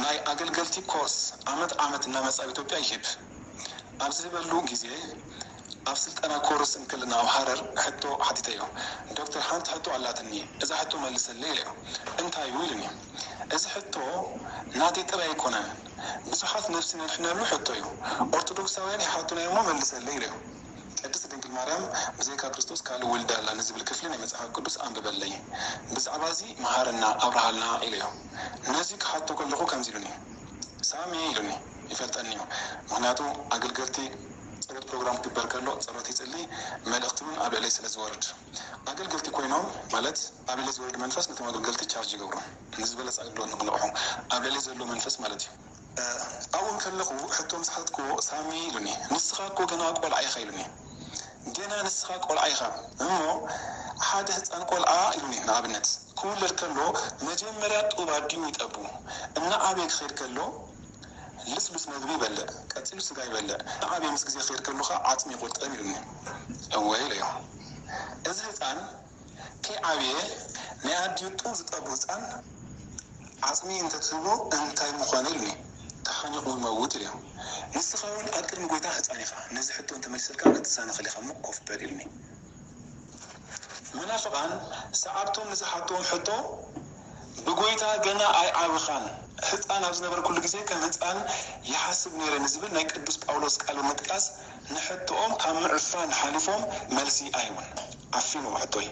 ናይ ኣገልገልቲ ኮርስ ዓመት ዓመት እናመጸ ኣብ ኢትዮጵያ ይህብ። ኣብ ዝህበሉ ግዜ ኣብ ስልጠና ኮርስ እንክልና ኣብ ሃረር ሕቶ ሓቲተዮ። ዶክተር፣ ሓንቲ ሕቶ ኣላትኒ፣ እዛ ሕቶ መልሰለይ ኢለዮ። እንታይ እዩ ኢሉኒ። እዚ ሕቶ ናተይ ጥራይ ኣይኮነን፣ ብዙሓት ነፍሲ ነድሕነሉ ሕቶ እዩ። ኦርቶዶክሳውያን ይሓቱና እሞ መልሰለይ ኢለዮ። ቅድስት ድንግል ማርያም ብዘይካ ክርስቶስ ካልእ ወልዳ ኣላ ንዝብል ክፍሊ ናይ መጽሓፍ ቅዱስ ኣንብበለይ። ብዛዕባ እዚ መሃረና ኣብርሃልና ኢለዮ። ነዚ ክሓቶ ከለኹ ከምዚ ኢሉኒ። ሳሚ ኢሉኒ። ይፈልጠኒ እዩ። ምክንያቱ ኣገልገልቲ ጸሎት ፕሮግራም ክግበር ከሎ ጸሎት ይጽሊ፣ መልእኽቲ እውን ኣብ ልዕለይ ስለ ዝወርድ ኣገልገልቲ ኮይኖም ማለት ኣብ ልዕለይ ዝወርድ መንፈስ ነቶም ኣገልገልቲ ቻርጅ ይገብሩ። ንዝበለጸ ኣገልግሎት ንክንቕሑ ኣብ ልዕለይ ዘሎ መንፈስ ማለት እዩ። ኣብኡ ከለኹ ሕቶ ምስ ሓትኩዎ ሳሚ ኢሉኒ። ንስኻ እኮ ገና ቆልዓ ኢኻ ኢሉኒ። ገና ንስኻ ቆልዓ ኢኻ እሞ ሓደ ህፃን ቆልዓ ኢሉኒ። ንኣብነት ክውለድ ከሎ መጀመርያ ጡብ ኣዲኡ ይጠቡ። እናዓበየ ክኸይድ ከሎ ልስሉስ መግቢ ይበልዕ፣ ቀፂሉ ስጋ ይበልዕ። እናዓበየ ምስ ግዜ ክኸይድ ከሎ ከዓ ዓፅሚ ይቁርጠም ኢሉኒ። እወ ኢለዮ። እዚ ህፃን ከይዓበየ ናይ ኣዲኡ ጡብ ዝጠቡ ህፃን ዓፅሚ እንተትህቦ እንታይ ምኾነ ኢሉኒ። ተሓኒቑ ይመውት ኢለዮ። ንስኻ እውን ኣብ ቅድሚ ጎይታ ህፃን ኢኻ፣ ነዚ ሕቶ እንተመሊሰልካ ክትሰናኸል ኢኻ እሞ ኮፍ በል ኢሉኒ። መናፍቓን ሰዓብቶም ንዝሓትዎም ሕቶ ብጎይታ ገና ኣይዓበኻን፣ ህፃን ኣብ ዝነበርኩሉ ግዜ ከም ህፃን ይሓስብ ነይረ ንዝብል ናይ ቅዱስ ጳውሎስ ቃል ብምጥቃስ ንሕቶኦም ካብ ምዕፋን ሓሊፎም መልሲ ኣይህቡን። ዓፊንዎ ሕቶይ።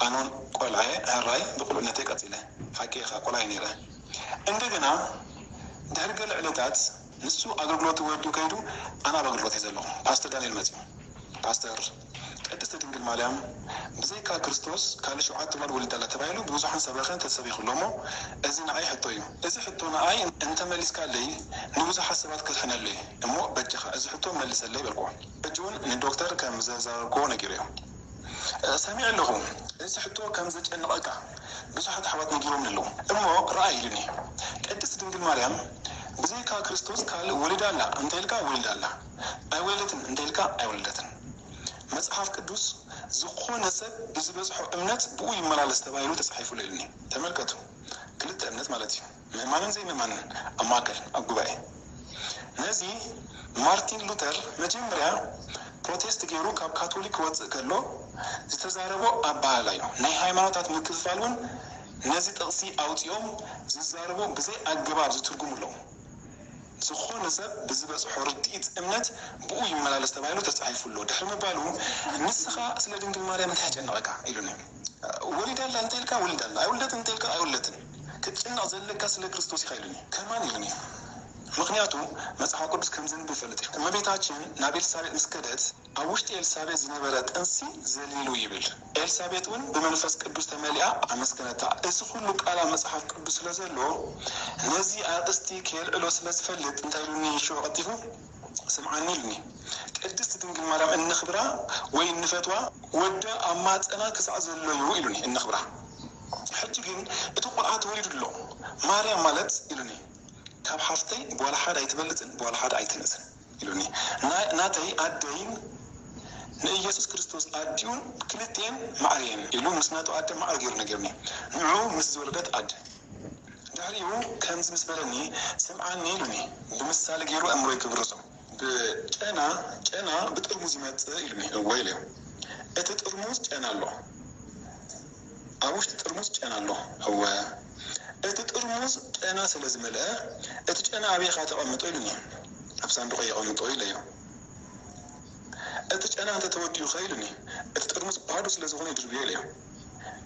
ኣነውን ቆልዓየ ሕራይ ብቁልዕነተይ ቀፂለ። ሓቂ ኢኻ ቆልዓየ ነይረ። እንደገና ድሕሪ ገለ ዕለታት ንሱ ኣገልግሎቱ ወዲኡ ከይዱ ኣነ ኣብ ኣገልግሎት እየ ዘለኹ። ፓስተር ዳንኤል መፂኡ። ፓስተር ቅድስት ድንግል ማርያም ብዘይካ ክርስቶስ ካልእ ሸውዓተ ጓል ወሊዳ ኣላ ተባሂሉ ብብዙሓን ሰበኸን ተሰቢኹ ኣሎ እሞ እዚ ንዓይ ሕቶ እዩ። እዚ ሕቶ ንዓይ እንተመሊስካለይ ንብዙሓት ሰባት ከድሕነሉ እየ እሞ በጃኻ እዚ ሕቶ መልሰለይ በልኩዎ። ሕጂ እውን ንዶክተር ከም ዘዛረብክዎ ነጊረዮ። ሰሚዐ ኣለኹ። እዚ ሕቶ ከም ዘጨንቐካ ብዙሓት ኣሕዋት ነጊሮምኒ ኣለዉ። እሞ ረኣይ ኢሉኒ። ቅድስት ድንግል ማርያም ብዘይካ ክርስቶስ ካልእ ወሊዳ ኣላ እንተ ኢልካ ወሊዳ ኣላ፣ ኣይወለደትን እንተ ኢልካ ኣይወለደትን። መጽሓፍ ቅዱስ ዝኾነ ሰብ ብዝበጽሖ እምነት ብኡ ይመላለስ ተባሂሉ ተጻሒፉ ኣሎ ኢሉኒ። ተመልከቱ፣ ክልተ እምነት ማለት እዩ። ምእማንን ዘይምእማንን ኣብ ማእከል ኣብ ጉባኤ። ነዚ ማርቲን ሉተር መጀመርያ ፕሮቴስት ገይሩ ካብ ካቶሊክ ክወፅእ ከሎ ዝተዛረቦ ኣበሃህላ እዩ። ናይ ሃይማኖታት ምክፍፋል እውን ነዚ ጥቕሲ ኣውፂኦም ዝዛረቡ ብዘይ ኣገባብ ዝትርጉሙ ኣለዉ። ዝኾነ ሰብ ብዝበፅሖ ርድኢት እምነት ብኡ ይመላለስ ተባሂሉ ተፃሒፉ ኣሎ። ድሕሪ ምባሉ ንስኻ ስለ ድንግል ማርያም እንታይ ያጨነቐካ ኢሉኒ። ወሊዳ ኣላ እንተ ኢልካ ወሊዳ ኣላ፣ ኣይወለደትን እንተ ኢልካ ኣይወለደትን። ክትጭነቕ ዘለካ ስለ ክርስቶስ ኢኻ ኢሉኒ። ከማን ኢሉኒ። ምኽንያቱ መጽሓፍ ቅዱስ ከም ዘንብብ ይፈልጥ እዩ። እመቤታችን ናብ ኤልሳቤጥ ምስ ከደት ኣብ ውሽጢ ኤልሳቤጥ ዝነበረ ጥንሲ ዘሊሉ ይብል። ኤልሳቤጥ እውን ብመንፈስ ቅዱስ ተመሊኣ ኣመስገነታ። እዚ ኩሉ ቃል ኣብ መጽሓፍ ቅዱስ ስለ ዘሎ ነዚ ኣርእስቲ ከየልዕሎ ስለ ዝፈልጥ እንታይ ኢሉኒ ሽዑ ቀልጢፉ? ስምዓኒ ኢሉኒ። ቅድስት ድንግል ማርያም እንኽብራ ወይ እንፈትዋ ወዳ ኣብ ማፀና ክሳዕ ዘሎ እዩ ኢሉኒ። እንኽብራ ሕጂ ግን እቲ ቆልዓ ተወሊዱ ኣሎ። ማርያም ማለት ኢሉኒ ካብ ሓፍተይ ብዋላ ሓደ ኣይትበልፅን ብዋላ ሓደ ኣይትንእስን ኢሉኒ። ናተይ ኣደይን ንኢየሱስ ክርስቶስ ኣዲኡን ክልቲኤን ማዕርየን ኢሉ ምስ ናቱ ኣደ ማዕረ ገይሩ ነጊሩኒ። ንዑ ምስ ዝወለደት ኣደ ድሕሪኡ ከምዚ ምስ በለኒ ስምዓኒ ኢሉኒ። ብምሳሌ ገይሩ ኣእምሮይ ክብርዞ። ብጨና ጨና ብጥርሙዝ ይመጽእ ኢሉኒ። እወ ኢለዮ። እቲ ጥርሙዝ ጨና ኣሎ። ኣብ ውሽጢ ጥርሙዝ ጨና ኣሎ። እወ። እቲ ጥርሙዝ ጨና ስለ ዝመልአ እቲ ጨና ኣበይኻ ተቐምጦ ኢሉኒ። ኣብ ሳንዱቕ የቐምጦ ኢለዮ። እቲ ጨና እንተተወዲኡ ኸ ኢሉኒ። እቲ ጥርሙዝ ባዶ ስለ ዝኾነ ይድርብዮ ኢለዮ።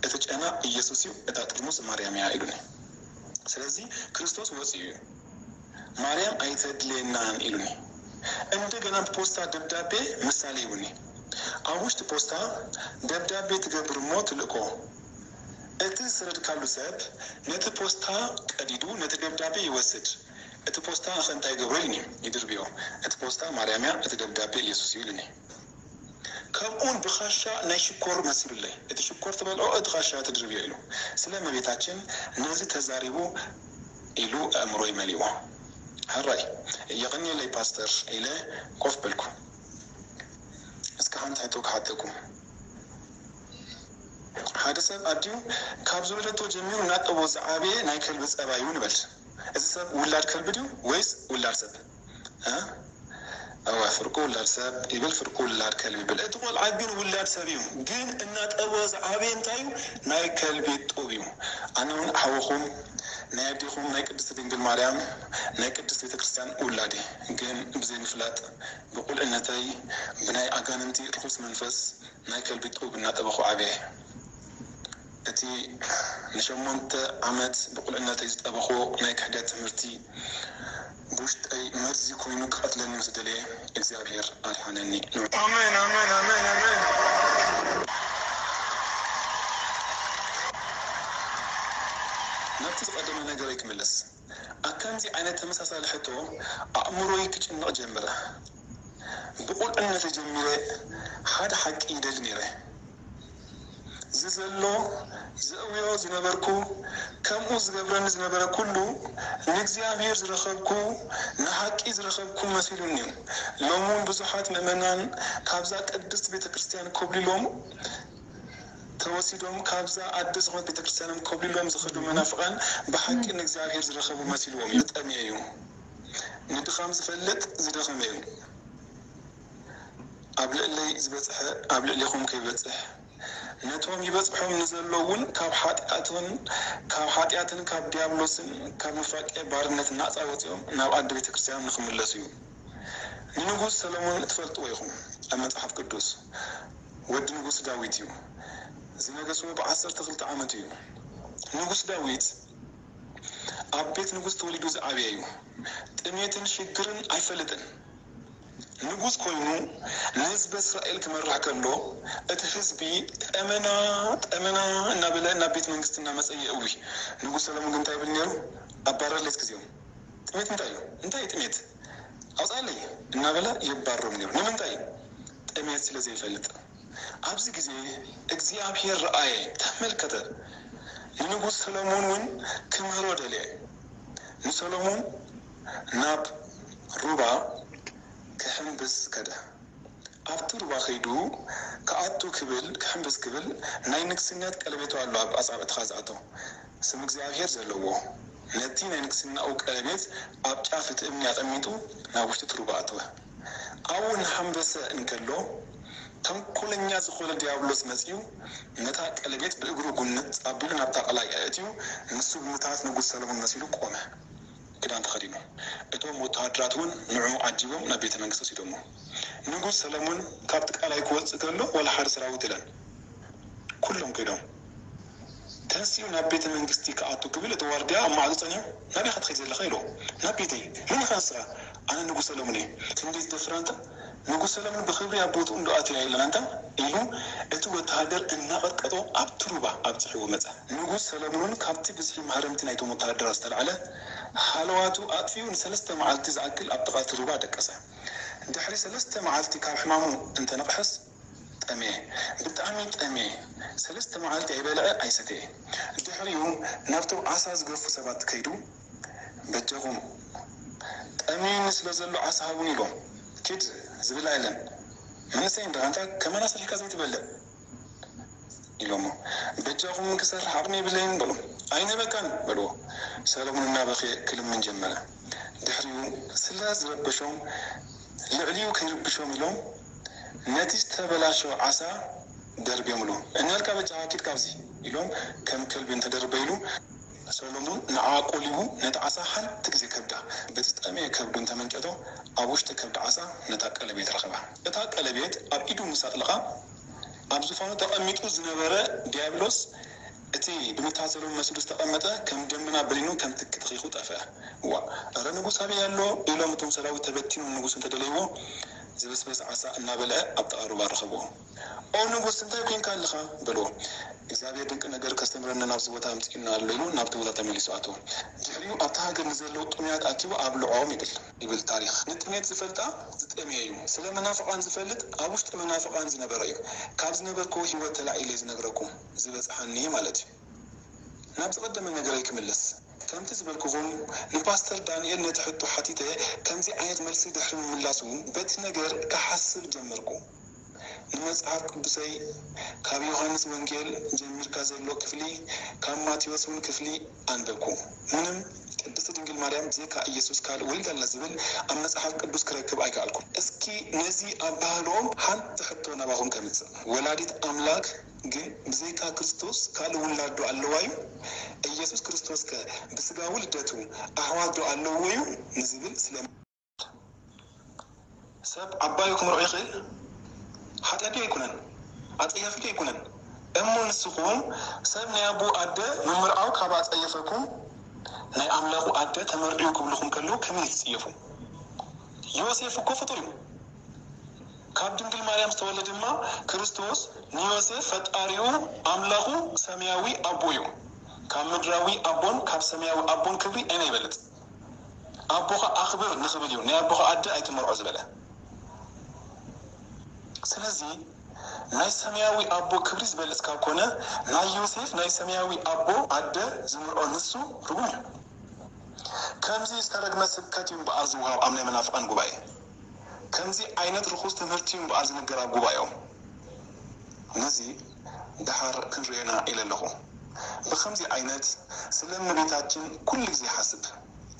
እቲ ጨና ኢየሱስ እዩ፣ እታ ጥርሙዝ ማርያም እያ ኢሉኒ። ስለዚ ክርስቶስ ወፂኡ እዩ። ማርያም ኣይተድልየናን ኢሉኒ። እንደገና ብፖስታ ደብዳቤ ምሳሌ ሂቡኒ። ኣብ ውሽጢ ፖስታ ደብዳቤ ትገብር እሞ ትልእኮ። እቲ ዝሰደድካሉ ሰብ ነቲ ፖስታ ቀዲዱ ነቲ ደብዳቤ ይወስድ። እቲ ፖስታ ኸ እንታይ ይገብሮ ኢሉኒ። ይድርብዮ። እቲ ፖስታ ማርያም እያ፣ እቲ ደብዳቤ ኢየሱስ እዩ ኢሉኒ። ከምኡውን ብኻሻ ናይ ሽኮር መሲሉለይ። እቲ ሽኮር ትበልዖ እቲ ኻሻ ትድርብዮ ኢሉ። ስለ እመቤታችን ነዚ ተዛሪቡ ኢሉ ኣእምሮይ መሊእዎ። ሕራይ የቐንየለይ ፓስተር ኢለ ኮፍ በልኩ። እስከ ሓንቲ ሕቶ ክሓተኩም። ሓደ ሰብ ኣዲኡ ካብ ዝወለደቶ ጀሚሩ እናጠቦ ዝዓበየ ናይ ከልቢ ጸባይ እዩ ንበል። እዚ ሰብ ውላድ ከልቢ ድዩ ወይስ ውላድ ሰብ? እ? እወ፣ ፍርቁ ውላድ ሰብ ይብል፣ ፍርቁ ውላድ ከልቢ ይብል። እቲ ቆልዓ ግን ውላድ ሰብ እዩ። ግን እናጠበ ዝዓበየ እንታይ እዩ? ናይ ከልቢ ጡብ እዩ። ኣነ እውን ሓውኹም ናይ ኣዴኹም ናይ ቅድስት ድንግል ማርያም ናይ ቅድስት ቤተ ክርስቲያን ውላድ እየ። ግን ብዘይ ምፍላጥ ብቁልዕነተይ ብናይ ኣጋንንቲ ርኹስ መንፈስ ናይ ከልቢ ጡብ እናጠበኹ ዓብየ። እቲ ንሸሞንተ ዓመት ብቁልዕነተይ ዝጠበኹዎ ናይ ክሕደት ትምህርቲ ብውሽጠይ መርዚ ኮይኑ ክቐትለኒ ምስ ደለየ እግዚኣብሔር ኣድሓነኒ። ኣሜን፣ ኣሜን፣ ኣሜን፣ ኣሜን። ናብቲ ዝቐደመ ነገረይ ክምለስ። ኣብ ከምዚ ዓይነት ተመሳሳሊ ሕቶ ኣእምሮይ ክጭነቕ ጀመረ። ብቑልዕነት ጀሚረ ሓደ ሓቂ ይደሊ ነይረ። እዚ ዘሎ ዘእውዮ ዝነበርኩ፣ ከምኡ ዝገብረኒ ዝነበረ ኩሉ ንእግዚኣብሔር ዝረኸብኩ፣ ንሓቂ ዝረኸብኩ መሲሉኒ እዩ። ሎሚ እውን ብዙሓት ምእመናን ካብዛ ቅድስት ቤተ ክርስቲያን ኮብሊሎም ተወሲዶም፣ ካብዛ ኣደ ዝኾነት ቤተ ክርስቲያኖም ኮብሊሎም ዝኸዱ መናፍቃን ብሓቂ ንእግዚኣብሔር ዝረኸቡ መሲልዎም እዩ። ዝጠምየ እዩ። ንድኻም ዝፈልጥ ዝደኸመ እዩ። ኣብ ልዕለይ ዝበጽሐ ኣብ ልዕሌኹም ከይበጽሕ፣ ነቶም ይበጽሖም ንዘሎ እውን ካብ ሓጢኣትን ካብ ሓጢኣትን ካብ ዲያብሎስን ካብ ኑፋቄ ባርነት ናጻ ወጺኦም ናብ ኣደ ቤተ ክርስቲያኖም ንኽምለሱ እዩ። ንንጉስ ሰሎሞን እትፈልጥዎ ኢኹም። ኣብ መጽሓፍ ቅዱስ ወዲ ንጉስ ዳዊት እዩ። ዝነገስዎ ብዓሰርተ ክልተ ዓመቱ እዩ። ንጉስ ዳዊት ኣብ ቤት ንጉስ ተወሊዱ ዝዓበየ እዩ። ጥሜትን ሽግርን ኣይፈልጥን። ንጉስ ኮይኑ ንህዝቢ እስራኤል ክመርሕ ከሎ፣ እቲ ህዝቢ ጠመና ጠመና እናበለ ናብ ቤት መንግስቲ እናመጸ የእዊ። ንጉስ ሰለሙን ግን እንታይ ይብል ነይሩ? ኣባረር ሌት ግዜኦም። ጥሜት እንታይ እዩ? እንታይ እዩ ጥሜት? ኣውጻለይ እናበለ የባርሮም ነይሩ። ንምንታይ? ጥሜት ስለ ዘይፈልጥ። ኣብዚ ግዜ እግዚኣብሔር ረኣየ፣ ተመልከተ። ንንጉስ ሰሎሞን እውን ክምህሮ ደልየ። ንሰሎሞን ናብ ሩባ ክሕምብስ ከደ። ኣብቲ ሩባ ከይዱ ክኣቱ ክብል፣ ክሕምብስ ክብል፣ ናይ ንግስነት ቀለቤቱ ኣሎ ኣብ ኣጻብዕትኻ ዝኣቶ፣ ስም እግዚኣብሔር ዘለዎ። ነቲ ናይ ንግስናኡ ቀለቤት ኣብ ጫፍ እቲ እምኒ ኣቐሚጡ ናብ ውሽጢ እቲ ሩባ ኣተወ። ኣብኡ እናሓምበሰ እንከሎ፣ ተንኮለኛ ዝኾነ ዲያብሎስ መጺኡ ነታ ቀለቤት ብእግሩ ጉንጽ ኣቢሉ ናብታ ቀላይ ኣእትዩ፣ ንሱ ብምትሃት ንጉስ ሰሎሞን መሲሉ ቆመ። ክዳን ተኸዲኑ። እቶም ወተሃደራት እውን ንዕኡ ዓጂቦም ናብ ቤተ መንግስቲ ወሲዶሞ። ንጉስ ሰለሞን ካብቲ ቀላይ ክወጽእ ከሎ ዋላ ሓደ ሰራዊት የለን። ኩሎም ከይዶም። ተንሲኡ ናብ ቤተ መንግስቲ ክኣቱ ክብል እቲ ዋርድያ ኣብ ማዕጾ ጸኒሑ፣ "ናበይ ኢኻ ትኸይድ ዘለኻ?" ኢልዎ። "ናብ ቤተይ። መን ኢኻ ንስኻ?" "ኣነ ንጉስ ሰለሙን እየ። ክንደይ ትደፍር ኣንታ? ንጉስ ሰለሙን ብኽብሪ ኣብ ቦትኡ እንዶ ኣትያ የለን ኣንታ?" ኢሉ እቲ ወተሃደር እናቐጥቀጦ ኣብቲ ሩባ ኣብጺሕዎ መጸ። ንጉስ ሰለሙንን ካብቲ ብዝሒ ማህረምቲ ናይቶም ወተሃደራት ዝተላዕለ ሃለዋቱ ኣጥፊኡ ንሰለስተ መዓልቲ ዝኣክል ኣብ ጥቓ እቲ ሩባ ደቀሰ። ድሕሪ ሰለስተ መዓልቲ ካብ ሕማሙ እንተነቕሐስ፣ ጠምየ። ብጣዕሚ ጠምየ። ሰለስተ መዓልቲ ኣይበልዐ ኣይሰተየ። ድሕሪኡ ናብቶም ዓሳ ዝገፉ ሰባት ከይዱ፣ "በጃኹም፣ ጠምዩኒ ስለ ዘሎ ዓሳ ሃቡኒ" ኢሎም። "ኪድ፣ ዝብላዕ የለን። መንእሰይ እንዲኻ፣ እንታይ ከማና ሰሪሕካ ዘይትበልዕ?" ኢሎሞ። "በጃኹም፣ ክሰርሕ ዓቕሚ የብለይን" በሉ። "ኣይንህበካን" በልዎ። ሰሎሞን እናበኸየ ክልምን ጀመረ። ድሕሪኡ ስለ ዝረበሾም፣ ልዕሊኡ ከይርብሾም ኢሎም ነቲ ዝተበላሸወ ዓሳ ደርብዮምሉ። "እንያልካ በጃኻ፣ ኪድ ካብዚ" ኢሎም ከም ከልቢ እንተደርበይሉ፣ ሰሎሞን ንዓ ቆሊቡ ነቲ ዓሳ ሓንቲ ግዜ ከብዳ፣ በቲ ዝጠመየ ከብዱ እንተመንጨቶ፣ ኣብ ውሽጢ ከብዲ ዓሳ ነታ ቀለቤት ረኸባ። እታ ቀለቤት ኣብ ኢዱ ምስ ኣጥለቓ፣ ኣብ ዙፋኑ ተቐሚጡ ዝነበረ ዲያብሎስ፣ እቲ ብምትሃት ሰሎሞን መሲሉ ዝተቐመጠ፣ ከም ደመና በኒኑ ከም ትኪ ተኺኹ ጠፍአ። "እዋእ፣ እረ ንጉስ ኣበይ ኣሎ?" ኢሎም እቶም ሰራዊት ተበቲኖም ንጉስ እንተደለይዎ፣ ዝበስበስ ዓሳ እናበልዐ ኣብ ጥቓ ሩባ ረኸብዎ። "ኦ ንጉስ፣ እንታይ ኮይንካ ኣለኻ?" በልዎ። "እግዚኣብሔር ድንቂ ነገር ከስተምረና ናብዚ ቦታ ኣምጺኡና ኣሎ" ኢሉ ናብቲ ቦታ ተመሊሱ ኣተወ። ድሕሪኡ ኣብቲ ሃገር ንዘለዉ ጥሙያት ኣኪቡ ኣብልዖም ይብል። ይብል ታሪኽ። ንጥሜት ዝፈልጣ ዝጠምየ እዩ። ስለ መናፍቓን ዝፈልጥ ኣብ ውሽጢ መናፍቓን ዝነበረ እዩ። ካብ ዝነበርክዎ ህይወት ተላዒለ ዝነግረኩም ዝበጽሓኒ ማለት እዩ። ናብ ዝቐደመ ነገረይ ክምለስ። ከምቲ ዝበልኩኹም ንፓስተር ዳንኤል ነቲ ሕቶ ሓቲተ ከምዚ ዓይነት መልሲ ድሕሪ ምምላሱ በቲ ነገር ክሓስብ ጀመርኩ። ንመጽሓፍ ቅዱሰይ ካብ ዮሃንስ ወንጌል ጀሚርካ ዘሎ ክፍሊ ካብ ማቴዎስ እውን ክፍሊ ኣንበብኩ። ምንም ቅድስቲ ድንግል ማርያም ብዘይካ ኢየሱስ ካልእ ወሊዳልና ዝብል ኣብ መጽሓፍ ቅዱስ ክረክብ ኣይከኣልኩን። እስኪ ነዚ ኣባህልኦም ሓንቲ ሕቶ ናባኹም ከምጽእ። ወላዲት ኣምላክ ግን ብዘይካ ክርስቶስ ካልእ ውላድ ዶ ኣለዋ እዩ? ኢየሱስ ክርስቶስ ከ ብስጋዊ ልደቱ ኣሕዋት ዶ ኣለውዎ እዩ? ንዝብል ስለ ሰብ ዓባዩ ክምርዖ ይኽእል? ሓጢኣት ድዩ ኣይኮነን? ኣጸያፊ ድዩ ኣይኮነን? እሞ ንስኹም ሰብ ናይ ኣቦ ኣደ ምምርዓው ካብ ኣጸየፈኩም ናይ ኣምላኹ ኣደ ተመርዕዩ ክብልኹም ከለዉ ከመይ ትጽየፉ? ዮሴፍ እኮ ፍጡር እዩ። ካብ ድንግል ማርያም ዝተወልደ ድማ ክርስቶስ ንዮሴፍ ፈጣሪኡ ኣምላኹ ሰማያዊ ኣቦ እዩ። ካብ ምድራዊ ኣቦን ካብ ሰማያዊ ኣቦን ክብሪ ኣየናይ ይበልጽ? ኣቦኻ ኣኽብር ንኽብል እዩ ናይ ኣቦኻ ኣደ ኣይትመርዖ ዝበለ። ስለዚ ናይ ሰማያዊ ኣቦ ክብሪ ዝበልጽ ካብ ኮነ ናይ ዮሴፍ ናይ ሰማያዊ ኣቦ ኣደ ዝምርዖ ንሱ ርጉም እዩ። ከምዚ ዝተረግመ ስብከት እዩ እምበኣር ዝወሃብ ኣብ ናይ መናፍቓን ጉባኤ። ከምዚ ዓይነት ርኹስ ትምህርቲ እዩ እምበኣር ዝንገር ኣብ ጉባኤኦም። ነዚ ደሓር ክንርእዮና ኢለ ኣለኹ። ብኸምዚ ዓይነት ስለ እመቤታችን ኩሉ ግዜ ሓስብ።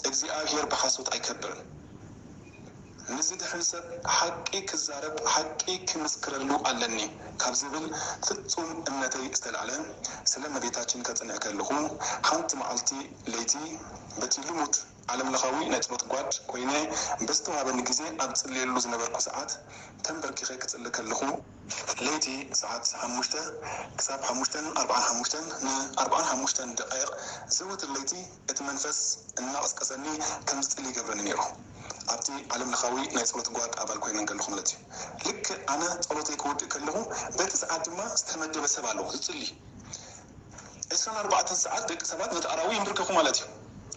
እግዚኣብሔር ብሓሶት ኣይከብርን። ንዝድሕን ሰብ ሓቂ ክዛረብ ሓቂ ክምስክረሉ ኣለኒ ካብ ዝብል ፍጹም እምነተይ ዝተላዕለ ስለ እመቤታችን ከጽንዕ ከለኹ ሓንቲ መዓልቲ ለይቲ በቲ ልሙድ ዓለምለኻዊ ናይ ጸሎት ጓድ ኮይነ በዝተዋህበኒ ግዜ ኣብ ዝጽልየሉ ዝነበርኩ ሰዓት ተንበርኪኸ ክጽሊ ከለኹ ለይቲ ሰዓት ሓሙሽተ ክሳብ ሓሙሽተን ኣርብዓን ሓሙሽተን ንኣርብዓን ሓሙሽተን ደቃይቕ ዘወትር ለይቲ እቲ መንፈስ እናቐስቀሰኒ ከም ዝጽሊ ይገብረኒ ነይሩ። ኣብቲ ዓለምለኻዊ ናይ ጸሎት ጓድ ኣባል ኮይነ እንከለኹ ማለት እዩ። ልክዕ ኣነ ጸሎተይ ክወድእ ከለኹ በቲ ሰዓት ድማ ዝተመደበ ሰብ ኣለዎ ዝጽሊ። ዕስራን ኣርባዕተን ሰዓት ደቂ ሰባት ነቲ ኣራዊ ይንብርከኹ ማለት እዩ።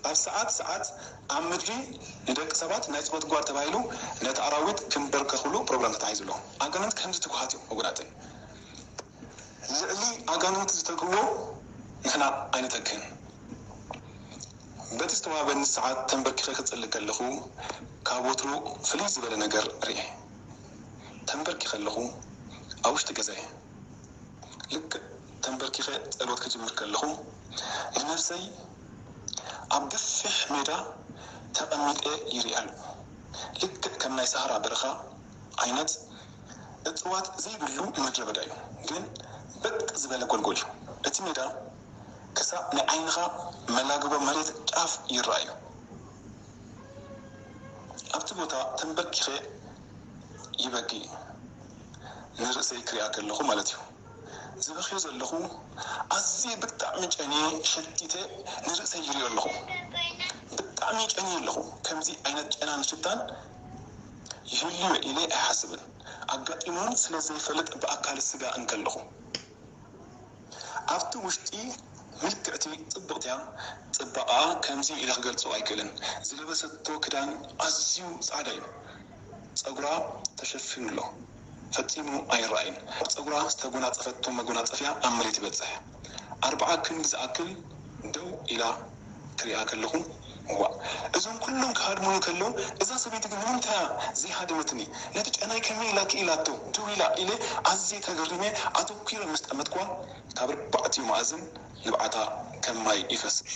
ኣብ ሰዓት ሰዓት ኣብ ምድሪ ንደቂ ሰባት ናይ ጸሎት ጓድ ተባሂሉ ነቲ ኣራዊት ክንበርከኽሉ ፕሮግራም ተታሒዙ ኣሎ። ኣጋንንት ከምዚ ትጉሃት እዮም ወገናተይ። ልዕሊ ኣጋንንት ዝተግህዎ ንሕና ኣይንተክህን። በቲ ዝተዋህበኒ ሰዓት ተንበርኪኸ ክጽሊ ከለኹ ካብ ወትሩ ፍልይ ዝበለ ነገር ርእየ። ተንበርኪኸ ኣለኹ ኣብ ውሽጢ ገዛይ። ልክዕ ተንበርኪኸ ጸሎት ክጅምር ከለኹ ንነብሰይ ኣብ ገፊሕ ሜዳ ተቐሚጠ ይሪኣ ኣለኹ። ልክዕ ከም ናይ ሳህራ በረኻ ዓይነት እጽዋት ዘይብሉ ምድረ በዳ እዩ፣ ግን በጥ ዝበለ ጎልጎል እዩ። እቲ ሜዳ ክሳብ ናይ ዓይንኻ መላግቦ መሬት ጫፍ ይረኣዩ። ኣብቲ ቦታ ተንበርኪኸ ይበኪ፣ ንርእሰይ ክሪኣ ከለኹ ማለት እዩ። ዝበኽዮ ዘለኹ ኣዝየ ብጣዕሚ ጨንየ ሸቲተ ንርእሰይ ይሪኦ ኣለኹ። ብጣዕሚ ጨንየ ኣለኹ። ከምዚ ዓይነት ጨናን ሽታን ይህልዮ ኢለ ኣይሓስብን። ኣጋጢሙን ስለ ዘይፈልጥ ብኣካል ስጋ እንከለኹ ኣብቲ ውሽጢ ምልክዕቲ ጽብቕቲ እያ። ጽባቐኣ ከምዚ ኢለ ክገልጾ ኣይክእልን። ዝለበሰቶ ክዳን ኣዝዩ ጻዕዳ እዩ። ጸጉራ ተሸፊኑ ኣሎ። ፈጺሙ ኣይረኣይን። ኣብ ጸጉራ ዝተጎናጸፈቶ መጎናጸፊያ ኣብ መሬት ይበጽሕ። ኣርብዓ ክንዲ ዝኣክል ደው ኢላ ክሪኣ ከለኹ፣ እዋእ፣ እዞም ኩሎም ክሃድሙኒ ከለዉ፣ እዛ ሰበይቲ ግን ንምንታይ እያ ዘይሃደመትኒ? ነቲ ጨናይ ከመይ ኢላ ክኢላቶ ደው ኢላ? ኢለ ኣዝየ ተገሪመ ኣተኲረ ምስ ጠመትክዋ፣ ካብ ኣርባዕቲኡ መኣዝን ንብዓታ ከም ማይ ይፈስስ።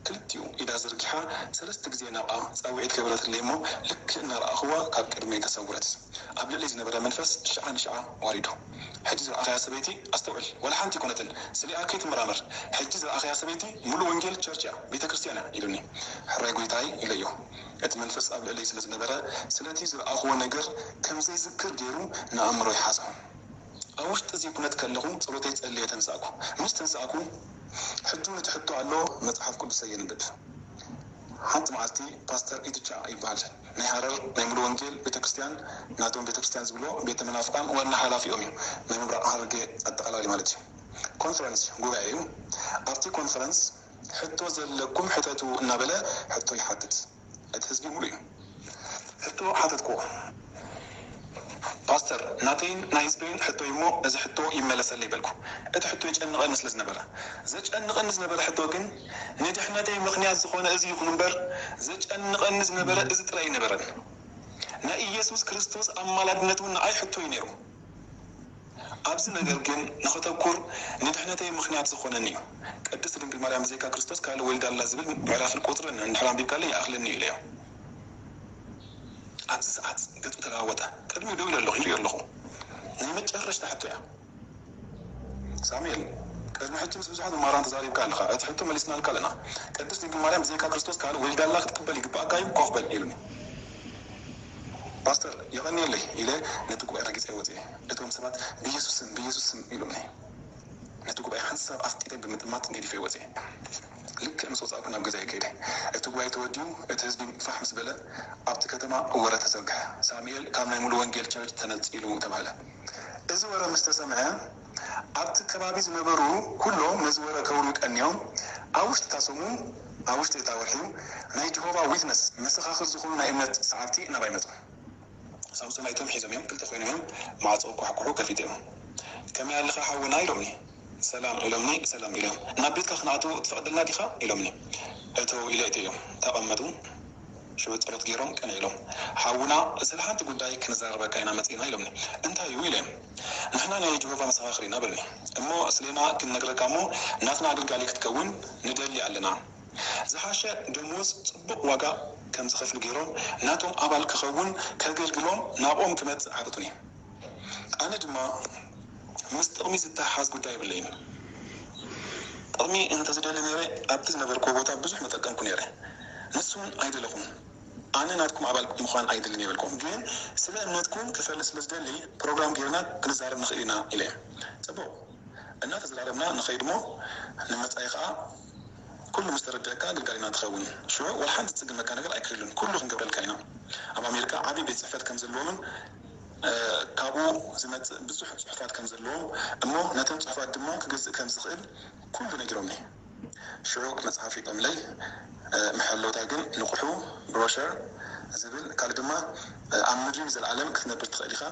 ክልቲኡ ኢዳ ዘርጊሓ ሰለስተ ግዜ ናብኣ ጻውዒት ገበረትለይ እሞ፣ ልክዕ እናረኣኽዋ ካብ ቅድመይ ተሰውረት። ኣብ ልዕሊ ዝነበረ መንፈስ ሽዓ ንሽዓ ዋሪዱ። ሕጂ ዝረኣኽያ ሰበይቲ ኣስተውዕል፣ ዋላ ሓንቲ ኣይኮነትን፣ ስሊኣ ከይትመራመር። ሕጂ ዝረኣኽያ ሰበይቲ ሙሉእ ወንጌል ቸርች እያ፣ ቤተ ክርስቲያን እያ ኢሉኒ። ሕራይ ጎይታይ ኢለዮ። እቲ መንፈስ ኣብ ልዕለይ ስለ ዝነበረ፣ ስለቲ ዝረኣኽዎ ነገር ከም ዘይዝክር ገይሩ ንኣእምሮይ ሓዞ። ኣብ ውሽጢ እዚ ኩነት ከለኹ ጸሎተይ ጸልየ ተንሳእኩ። ምስ ተንሳእኩ ሕጂ እውን እቲ ሕቶ ኣሎ፣ መጽሓፍ ቅዱሰይ የንብብ። ሓንቲ መዓልቲ ፓስተር ኢትቻ ይበሃል፣ ናይ ሃረር ናይ ሙሉ ወንጌል ቤተክርስትያን፣ ናቶም ቤተክርስትያን ዝብሎ ቤተ መናፍቃን ዋና ሓላፊኦም እዩ፣ ናይ ምብራቕ ሃረርጌ ኣጠቓላሊ ማለት እዩ። ኮንፈረንስ ጉባኤ እዩ። ኣብቲ ኮንፈረንስ ሕቶ ዘለኩም ሕተቱ እናበለ ሕቶ ይሓትት። እቲ ህዝቢ ሙሉ እዩ። ሕቶ ሓተትኩዎ። ፓስተር፣ ናተይን ናይ ህዝበይን ሕቶ እዩ እሞ እዚ ሕቶ ይመለሰለይ በልኩ። እቲ ሕቶ ይጨንቐኒ ስለ ዝነበረ። ዘጨንቐኒ ዝነበረ ሕቶ ግን ንድሕነተይ ምኽንያት ዝኾነ እዚ ይኹን እምበር ዘጨንቐኒ ዝነበረ እዚ ጥራይ ኣይነበረን። ናይ ኢየሱስ ክርስቶስ ኣማላድነት እውን ንዓይ ሕቶ እዩ ነይሩ። ኣብዚ ነገር ግን ንኸተኩር ንድሕነተይ ምኽንያት ዝኾነኒ እዩ። ቅድስት ድንግል ማርያም ብዘይካ ክርስቶስ ካልእ ወሊዳ ኣላ ዝብል ምዕራፍን ቁጽርን እንድሕር ኣንቢብካለይ ይኣኽለኒ እዩ ኢለዮ። ኣብዚ ሰዓት ገጹ ተለዋወጠ። ቅድሚኡ ደው ኢለ ኣለኹ፣ ይሪኦ ኣለኹ። ናይ መጨረሽታ ሕቶ እያ። ሳሙኤል፣ ቅድሚ ሕጂ ምስ ብዙሓት መማህራን ተዛሪብካ ኣለኻ። እቲ ሕቶ መሊስናልካ ኣለና። ቅድስት ድንግል ማርያም ብዘይካ ክርስቶስ ካልእ ወሊዳ ኣላ ክትቅበል ይግባኣካ እዩ፣ ኮፍ በል ኢሉኒ። ፓስተር፣ የቐንየለይ ኢለ ነቲ ጉባኤ ረጊጸ ወጺኤ። እቶም ሰባት ብየሱስ ስም፣ ብየሱስ ስም ኢሎምኒ። ነቲ ጉባኤ ሓንሳብ ኣፍጢጠ ብምጥማት ገዲፈ ወጺኤ። ልክዕ ምስ ወጻእኩ ናብ ገዛይ ከይደ። እቲ ጉባኤ ተወዲኡ፣ እቲ ህዝቢ ፋሕ ምስ በለ፣ ኣብቲ ከተማ ወረ ተዘርግሐ። ሳሙኤል ካብ ናይ ሙሉ ወንጌል ቸርች ተነጺሉ ተባህለ። እዚ ወረ ምስ ተሰምዐ፣ ኣብቲ ከባቢ ዝነበሩ ኩሎም ነዚ ወረ ከውርዩ ቀንዮም፣ ኣብ ውሽጢ እታ ሰሙን፣ ኣብ ውሽጢ እታ ወርሒ፣ ናይ ጀሆቫ ዊትነስ መሰኻኽር ዝኾኑ ናይ እምነት ሰዓብቲ ናባይ መጹ። ሳምሶናይቶም ሒዞም እዮም፣ ክልተ ኮይኖም እዮም፣ ማዕጾ ኳሕኩሑ ከፊቶም። "ከመይ ኣለኻ ሓውና?" ኢሎምኒ። "ሰላም" ኢሎምኒ፣ "ሰላም" ኢሎም። "ናብ ቤትካ ክንኣትዎ ትፈቕደልና ዲኻ?" ኢሎምኒ። እተው ኢለ እተዮም። ተቐመጡ። ሽዑ ጸሎት ገይሮም ቀንዒሎም። "ሓውና፣ ስለ ሓንቲ ጉዳይ ክንዘራረበካ ኢና መጺእና" ኢሎምኒ። "እንታይ እዩ?" ኢለዮም። "ንሕና ናይ ጀሆቫ መሰኻኽር ኢና" በሉኒ። "እሞ ስሌና ክንነግረካ እሞ ናትና ኣገልጋሊ ክትከውን ንደሊ ኣለና። ዝሓሸ ደሞዝ፣ ጽቡቕ ዋጋ ከም ዝኸፍሉ ገይሮም ናቶም ኣባል ክኸውን ከገልግሎም ናብኦም ክመጽእ ሓተቱኒ። ኣነ ድማ ምስ ጥቕሚ ዝተሓሓዝ ጉዳይ የብለይን። ጥቕሚ እንተዝደሊ ነይረ ኣብቲ ዝነበርኩዎ ቦታ ብዙሕ ምጠቀምኩ ነይረ። ንሱ እውን ኣይደለኹን። ኣነ ናትኩም ኣባል ምዃን ኣይደልን የበልኩም፣ ግን ስለ እምነትኩም ክፈልጥ ስለ ዝደሊ ፕሮግራም ገይርና ክንዛረብ ንኽእል ኢና ኢለ። ጽቡቕ። እናተዘራረብና ንኸይድ እሞ ንመጻኢ ኸኣ ኩሉ ምስ ተረድአካ ኣገልጋሊና ትኸውን። ሽዑ ዋላ ሓንቲ ዝጽግመካ ነገር ኣይክህሉን። ኩሉ ክንገብረልካ ኢና። ኣብ ኣሜሪካ ዓቢ ቤት ጽሕፈት ከም ዘለዎምን፣ እ፣ ካብኡ ዝመጽእ ብዙሕ ጽሑፋት ከም ዘለዎም እሞ ነተን ጽሑፋት ድማ ክገዝእ ከም ዝኽእል ኩሉ ነጊሮምኒ። ሽዑ መጽሓፍ ሂቦምለይ፣ እ፣ መሐለውታ ግን ንቑሑ ብሮሸር ዝብል፣ ካልእ ድማ፣ እ፣ ኣብ ምድሪ ንዘለኣለም ክትነብር ትኽእል ኢኻ፣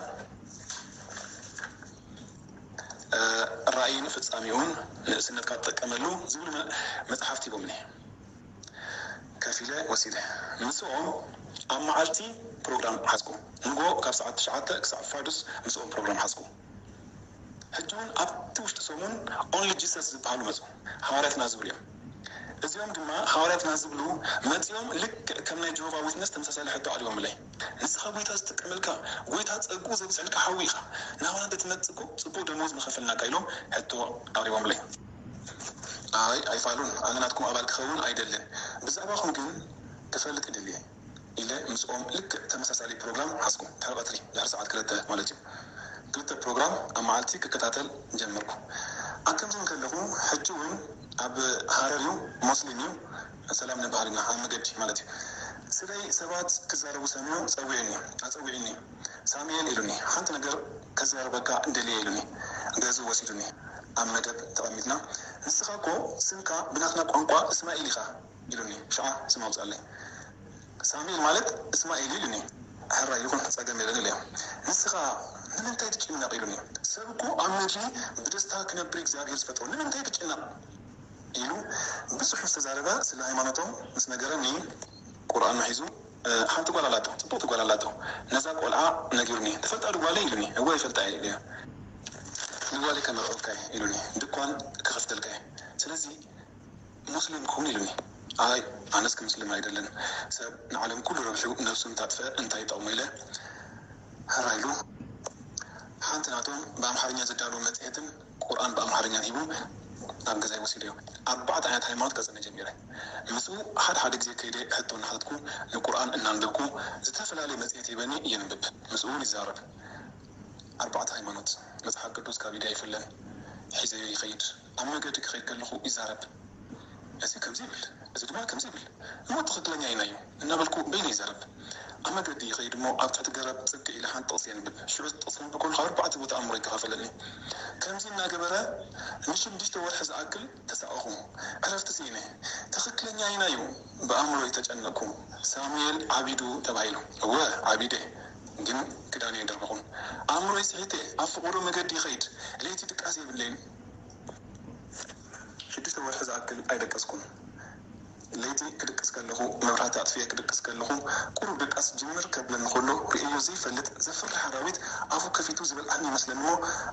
እ፣ ራእይን ፍጻሜኡን ንእስነትካ ትጥቀመሉ ዝብሉ መ-፣ መጽሓፍቲ ሂቦምኒ። ከፊለ ወሲደ። ምስኦም ኣብ መዓልቲ ፕሮግራም ሓዝኩ። ንግሆ ካብ ሰዓት ትሽዓተ ክሳብ ፋዱስ ምስኦም ፕሮግራም ሓዝኩ። ሕጂ እውን ኣብቲ ውሽጢ ሰሙን ኦንሊ ጂሰስ ዝበሃሉ መጹ። ሃዋርያትና ዝብሉ እዮም። እዚኦም ድማ ሃዋርያትና ዝብሉ መጺኦም ልክዕ ከም ናይ ጀሆቫ ዊትነስ ተመሳሳሊ ሕቶ ኣቕሪቦምለይ። "ንስኻ ጎይታ ዝጥቀመልካ፣ ጎይታ ጸግኡ ዘብዝሐልካ ሓዊ ኢኻ። ናባና እንተትመጽእ እኮ ጽቡቕ ደመወዝ ምኸፈልናካ" ኢሎም ሕቶ ኣቕሪቦምለይ። "ኣይ፣ ኣይፋሉን። ኣነ ናትኩም ኣባል ክኸውን ኣይደልን። ብዛዕባኹም ግን ክፈልጥ ይደሊ" ኢለ ምስኦም ልክዕ ተመሳሳሊ ፕሮግራም ሓዝኩ። ድሕሪ ቀትሪ፣ ድሕሪ ሰዓት ክልተ ማለት እዩ። ክልተ ፕሮግራም ኣብ መዓልቲ ክከታተል ጀመርኩ። ኣብ ከምዚ እንከለኹ፣ ሕጂ እውን ኣብ ሃረር እዩ፣ ሞስሊም እዩ፣ ሰላም ንበሃል ኢና፣ ኣብ መገዲ ማለት እዩ። ስለይ ሰባት ክዛረቡ ሰሚዑ ጸዊዑኒ፣ ኣጸዊዑኒ። "ሳሙኤል" ኢሉኒ፣ "ሓንቲ ነገር ከዘራርበካ ደልየ" ኢሉኒ። ገዝኡ ወሲዱኒ። ኣብ መደብ ተቐሚጥና፣ "ንስኻ እኮ ስምካ ብናትና ቋንቋ እስማኤል ኢኻ" ኢሉኒ። ሽዓ ስም ኣውጽኣለይ። "ሳሙኤል ማለት እስማኤል" ኢሉኒ። "ሕራይ ይኹን፣ ጸገም የለን" ኢለዮ። "ንስኻ ንምንታይ ትጭነቕ?" ኢሉኒ። "ሰብ እኮ ኣብ ምድሪ ብደስታ ክነብር እግዚኣብሔር ዝፈጠሮ፣ ንምንታይ ትጭነቕ?" ኢሉ ብዙሕ ምስ ተዛረበ፣ ስለ ሃይማኖቶም ምስ ነገረኒ፣ ቁርኣን ሒዙ፣ እ፣ ሓንቲ ጓል ኣላቶ፣ ጽብቕቲ ጓል ኣላቶ። ነዛ ቆልዓ ነጊሩኒ። "ትፈልጣ ዶ ጓለይ?" ኢሉኒ። "እወ፣ ይፈልጣ እየ" ኢለዮ። "ንጓለይ ከመርዕወካ እየ" ኢሉኒ። "ድኳን ክኸፍተልካ እየ። ስለዚ ሙስሊም ክኹን" ኢሉኒ። "ኣይ፣ ኣነስ ክምስልም ኣይደልን። ሰብ ንዓለም ኩሉ ረቢሑ ነብሱ እንታጥፍአ እንታይ ይጠቕሞ?" ኢለ ሕራይ ኢሉ። ሓንቲ ናቶም ብኣምሓርኛ ዝዳሎ መጽሔትን ቁርኣን ብኣምሓርኛን ሂቡ ናብ ገዛይ ወሲደዮ። ኣርባዕተ ዓይነት ሃይማኖት ከጽንዕ ጀሚረ። ምስኡ ሓደ ሓደ ግዜ ከይደ ሕቶ እናሓተትኩ፣ ንቁርኣን እናንበብኩ፣ ዝተፈላለየ መጽሔት ሂበኒ የንብብ። ምስኡ እውን ይዛረብ። ኣርባዕተ ሃይማኖት፣ መጽሓፍ ቅዱስ ካብ ኢደይ ኣይፍለን። ሒዘዮ ይኸይድ። ኣብ መገዲ ክኸይድ ከለኹ ይዛረብ። "እዚ ከምዚ ይብል፣ እዚ ድማ ከምዚ ይብል፣ እሞ ትኽክለኛ ኣየናይ እዩ?" እናበልኩ በይነይ ይዛረብ። ኣብ መገዲ ይኸይድ እሞ ኣብ ትሕቲ ገረብ ጽግዕ ኢለ ሓንቲ ጥቕሲ የንብብ። ሽዑ ጥቕሲ ከንብብ ከለኹ ኣርባዕተ ቦታ ኣእምሮይ ይከፋፈለኒ። ከምዚ እናገበረ ንሽዱሽተ ወርሒ ዝኣክል ተሳቐኹ። ዕረፍቲ ስኢነ። "ትኽክለኛ ኣየናይ እዩ?" ብኣእምሮይ ተጨነቕኩ። "ሳሙኤል ዓቢዱ" ተባሂሉ። እወ፣ ዓቢደ፣ ግን ክዳነይ ኣይደርበኹን። ኣእምሮይ ስሒተ ኣብ ፈቐዶ መገዲ ይኸይድ። ለይቲ ድቃስ የብለይን። ሽዱሽተ ወርሒ ዝኣክል ኣይደቀስኩን። ለይቲ ክድቅስ ከለኹ፣ መብራህቲ ኣጥፍኤ ክድቅስ ከለኹ፣ ቁሩብ ድቃስ ጅምር ከብለኒ ከሎ፣ ርእየዮ ዘይፈልጥ ዘፍርሕ ኣራዊት ኣፉ ከፊቱ ዝበልዓኒ ይመስለኒ እሞ፣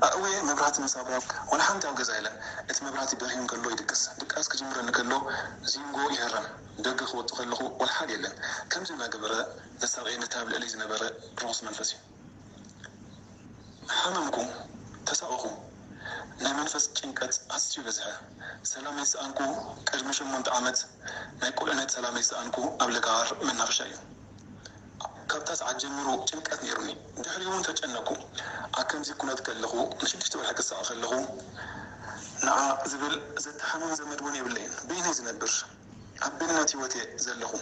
ኣእውየ መብራህቲ ምስ ኣብርያ፣ ዋላ ሓንቲ ኣብ ገዛ የለን። እቲ መብራህቲ በርሂ እንከሎ ይድቅስ። ድቃስ ክጅምረኒ ከሎ፣ ዚንጎ ይህረም። ደገ ክወጽእ ከለኹ፣ ዋላ ሓደ የለን። ከምዚ እናገበረ ዘሳቕየኒ እቲ ኣብ ልዕለይ ዝነበረ ርኹስ መንፈስ እዩ። ሓመምኩ፣ ተሳቐኹ። ናይ መንፈስ ጭንቀት ኣዝዩ በዝሐ። ሰላመይ ዝሰኣንኩ ቅድሚ ሸሞንተ ዓመት፣ ናይ ቁልዕነት ሰላመይ ዝሰኣንኩ ኣብ ለጋሃር መናፈሻ እዩ። ካብታ ሰዓት ጀሚሩ ጭንቀት ነይሩኒ። ድሕሪኡ እውን ተጨነኩ። ኣብ ከምዚ ኩነት ከለኹ፣ ንሽዱሽተ ወርሒ ክሳቐ ከለኹ፣ ንዓ ዝብል ዘተሓምም ዘመድ እውን የብለይን። በይነይ ዝነብር። ኣብ በይንነት ህይወት እየ ዘለኹ።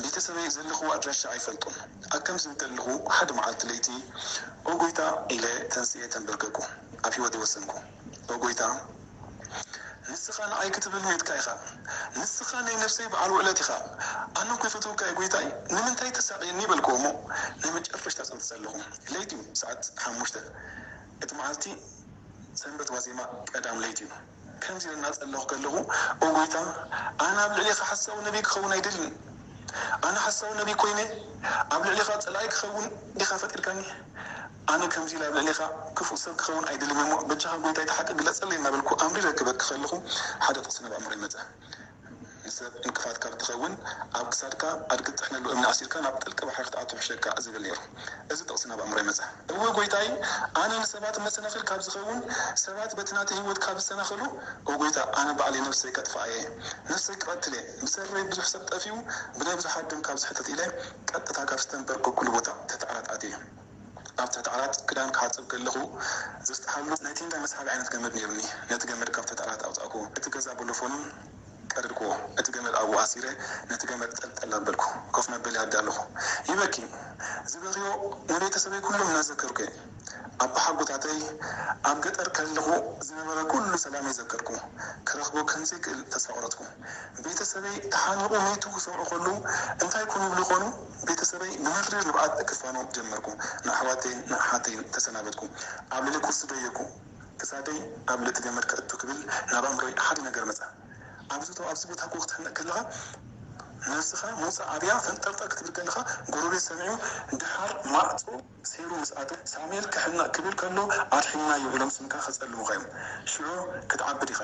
ቤተሰበይ ዘለኹዎ ኣድራሻ ኣይፈልጡን። ኣብ ከምዚ እንተለኹ ሓደ መዓልቲ ለይቲ፣ "ኦ ጎይታ" ኢለ ተንስኤ ተንበርከኩ። ኣብ ህይወተይ ወሰንኩ። "ኦ ጎይታ፣ ንስኻ ንዓይ ክትብል ሞይትካ ኢኻ። ንስኻ ናይ ነፍሰይ በዓል ውዕለት ኢኻ። ኣነ እኮ ይፈትወካ እየ ጎይታይ፣ ንምንታይ ተሳቕየኒ?" በልክዎ እሞ ናይ መጨረሽታ ጸሎት ዘለኹ። ለይቲ እዩ፣ ሰዓት ሓሙሽተ። እቲ መዓልቲ ሰንበት ዋዜማ ቀዳም ለይቲ እዩ። ከምዚ ኢለ እናጸለኹ ከለኹ፣ "ኦ ጎይታ፣ ኣነ ኣብ ልዕሌኻ ሓሳዊ ነቢይ ክኸውን ኣይደልን። ኣነ ሓሳዊ ነቢይ ኮይነ ኣብ ልዕሌኻ ጸላኢ ክኸውን ዲኻ ፈጢርካኒ? ኣነ ከምዚ ኢለ ኣብ ልዕሌኻ ክፉእ ሰብ ክኸውን ኣይደልን እሞ፣ በጃኻ ጎይታ እቲ ሓቂ ግለጸለይ" እናበልኩ ኣምሪረ ክበኪ ከለኹ፣ ሓደ ጥቕሲ ናብ ኣእምሮይ መጸ። "ንሰብ እንቅፋት ካብ ትኸውን፣ ኣብ ክሳድካ ኣድጊ ትጥሕነሉ እምኒ ኣሲርካ ናብ ጥልቂ ባሕሪ ክትኣቱ ይሕሸካ" ዝብል ነይሩ። እዚ ጥቕሲ ናብ ኣእምሮይ መጸ። "እወ ጎይታይ፣ ኣነ ንሰባት መሰናኽል ካብ ዝኸውን፣ ሰባት በቲ ናተይ ህይወት ካብ ዝሰናኸሉ፣ ኦ ጎይታ፣ ኣነ ባዕለይ ነፍሰይ ከጥፍኣ እየ። ነፍሰይ ክቐትል እየ። ብሰረይ ብዙሕ ሰብ ጠፊኡ፣ ብናይ ብዙሓት ደም ካብ ዝሕተት" ኢለ ቀጥታ ካብ ዝተንበርከኩሉ ቦታ ትሕቲ ዓራት ኣትየ። ኣብ ትሕቲ ዓራት ክዳን ክሓጽብ ከለኹ ዘስጥሓሉ ናይ ቴንዳ መስሓቢ ዓይነት ገመድ ነይሩኒ። ነቲ ገመድ ካብ ትሕቲ ዓራት ኣውጻእኩ። እቲ ገዛ ቦሎፎኑን ቀደድክዎ። እቲ ገመድ ኣብኡ ኣሲረ፣ ነቲ ገመድ ጠልጠል ኣበልኩ። ኮፍ መበሊ ኣዳለኹ። ይበኪ። ዝበኽዮ ንቤተሰበይ ኩሎም እናዘከርኩ እየ። ኣቦሓጎታተይ ኣብ ገጠር ከለኹ ዝነበረ ኩሉ ሰላመይ ዘከርኩ። ክረኽቦ ከም ዘይክእል ተስፋ ቆረጽኩ። ቤተሰበይ ተሓኒቑ መይቱ ክሰምዑ ከለዉ እንታይ ኮን ይብሉ ይኾኑ? ቤተሰበይ ብመሪር ንብዓት ክፋኖ ጀመርኩ። ንኣሕዋተይን ንኣሓተይን ተሰናበትኩ። ኣብ ልዕሊ ኩርሲ ደየብኩ። ክሳደይ ኣብ ልዕሊ ገመድ ከእቱ ክብል ናብ ኣእምሮይ ሓደ ነገር መጸ። ኣብዚ ቶ-፣ ኣብዚ ቦታ እኮ ክትሕነቕ ከለኻ ነብስኻ ምውጻእ ኣብያ ፈንጠርጠር ክትብል ከለኻ ጎረቤት ሰሚዑ ድሓር ማዕጾ ሰይሩ ምስ ኣተወ ሳሙኤል ክሕነቕ ክብል ከሎ ኣድሒንናዮ ኢሎም ስምካ ከጸልሙኻ እዮም። ሽዑ ክትዓቢ ዲኻ?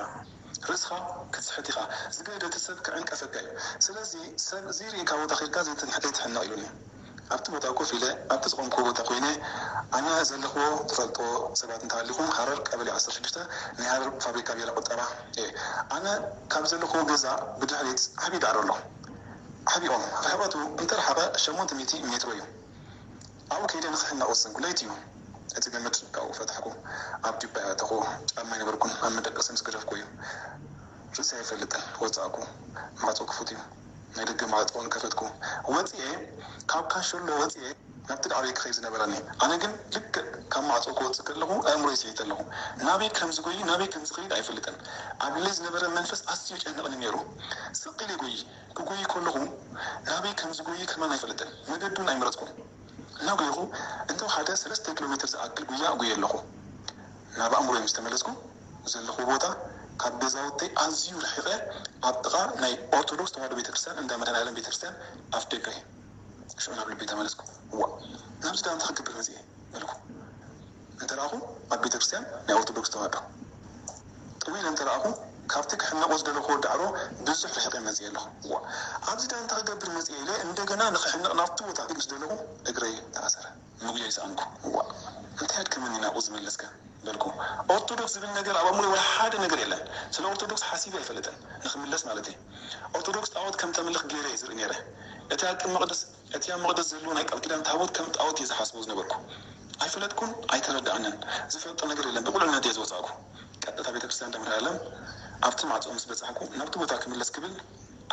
ርእስኻ ክትስሕት ኢኻ። ዝገደደ ሰብ ክዕንቀፈካ እዩ። ስለዚ ሰብ ዘይርእየካ ቦታ ኬድካ ዘይትንሕ-፣ ዘይትሕነቕ ኢሉኒ። ኣብቲ ቦታ ኮፍ ኢለ፣ ኣብቲ ዝቖምኩዎ ቦታ ኮይነ፣ ኣነ ዘለኽዎ ትፈልጥዎ ሰባት እንተሃሊኹም፣ ሃረር ቀበሌ ዓሰርተ ሽዱሽተ ናይ ሃረር ፋብሪካ ቢራ ቁጠባ እየ። ኣነ ካብ ዘለኽዎ ገዛ ብድሕሪት ዓብዪ ዳዕሮ ኣሎ። ዓብዪ ኦም ርሕቐቱ እንተረሓቐ ሸሞንተ ሚእቲ ሜትሮ እዩ። ኣብኡ ከይደ ንኽሕነቕ ወሰንኩ። ለይቲ እዩ። እቲ ገመድ ካብኡ ፈታሕኩ። ኣብ ጁባይ ኣእተኹ። ጫማ ኣይነበርኩን። ኣብ መደቀሲ ምስ ገደፍኩ እዩ። ርእሰይ ኣይፈልጥን። ወጻእኩ። ማዕጾ ክፉት እዩ። ናይ ደገ ማዕጾ እውን ከፈትኩ። ወጺኤ፣ ካብ ካንሸሎ ወጺኤ፣ ናብቲ ዳዕሮይ ክኸይድ ዝነበረኒ። ኣነ ግን ልክዕ ካብ ማዕጾ ክወጽእ ከለኹ ኣእምሮይ ስሒተ ኣለኹ። ናበይ ከም ዝጎይ፣ ናበይ ከም ዝኸይድ ኣይፈልጥን። ኣብ ልዕለይ ዝነበረ መንፈስ ኣዝዩ ይጨንቕኒ ነይሩ። ስቕ ኢለ ይጎይ። ክጎይ ከለኹ ናበይ ከም ዝጎይ ከማን ኣይፈልጥን። መገዲ እውን ኣይመረጽኩን። እናጎየኹ እንተወሓደ ሰለስተ ኪሎ ሜትር ዝኣክል ጉያ እጉየ ኣለኹ። ናብ ኣእምሮይ ምስ ተመለስኩ፣ ዘለኹዎ ቦታ ካብ ገዛውተይ ኣዝዩ ርሒቐ፣ ኣብ ጥቓ ናይ ኦርቶዶክስ ተዋህዶ ቤተክርስትያን እንዳ መድኃኔዓለም ቤተክርስትያን ኣፍ ደገ እዩ። ሽዑ ናብ ልበይ ተመለስኩ። "እዋእ፣ ናብዚ ደኣ እንታይ ክገብር መጺኤ?" በልኩ። እንተ ረኣኹ፣ ኣብ ቤተክርስትያን ናይ ኦርቶዶክስ ተዋህዶ። ጥው ኢለ እንተ ረኣኹ፣ ካብቲ ክሕነቖ ዝደለኹዎ ዳዕሮ ብዙሕ ርሒቐ መጺኤ ኣለኹ። "እዋእ፣ ኣብዚ ደኣ እንታይ ክገብር መጺኤ?" ኢለ እንደገና ንኽሕነቕ ናብቲ ቦታ ምስ ደለኹ፣ እግረይ ተኣሰረ። ምጉያይ ሰኣንኩ። "እዋእ፣ እንታይ ኣድከመኒ ናብኡ ዝመለስከ?" በልኩ። ኦርቶዶክስ ዝብል ነገር ኣብ ኣእምሮይ ወላ ሓደ ነገር የለን። ስለ ኦርቶዶክስ ሓሲበ ኣይፈልጥን፣ ንኽምለስ ማለተይ። ኦርቶዶክስ ጣዖት ከም ተምልኽ ገይረ እየ ዝርኢ ነይረ። እቲ ኣብ ቅድሚ ቅዱስ፣ እቲ ኣብ መቕደስ ዘሎ ናይ ቃል ኪዳን ታቦት ከም ጣዖት እየ ዝሓስቦ ዝነበርኩ። ኣይፈለጥኩን፣ ኣይተረድኣንን። ዝፈልጦ ነገር የለን። ብቁልዕነት እየ ዝወጻእኩ። ቀጥታ ቤተክርስትያን ደብረ ዓለም ኣብቲ ማዕጾ ምስ በጻሕኩ፣ ናብቲ ቦታ ክምለስ ክብል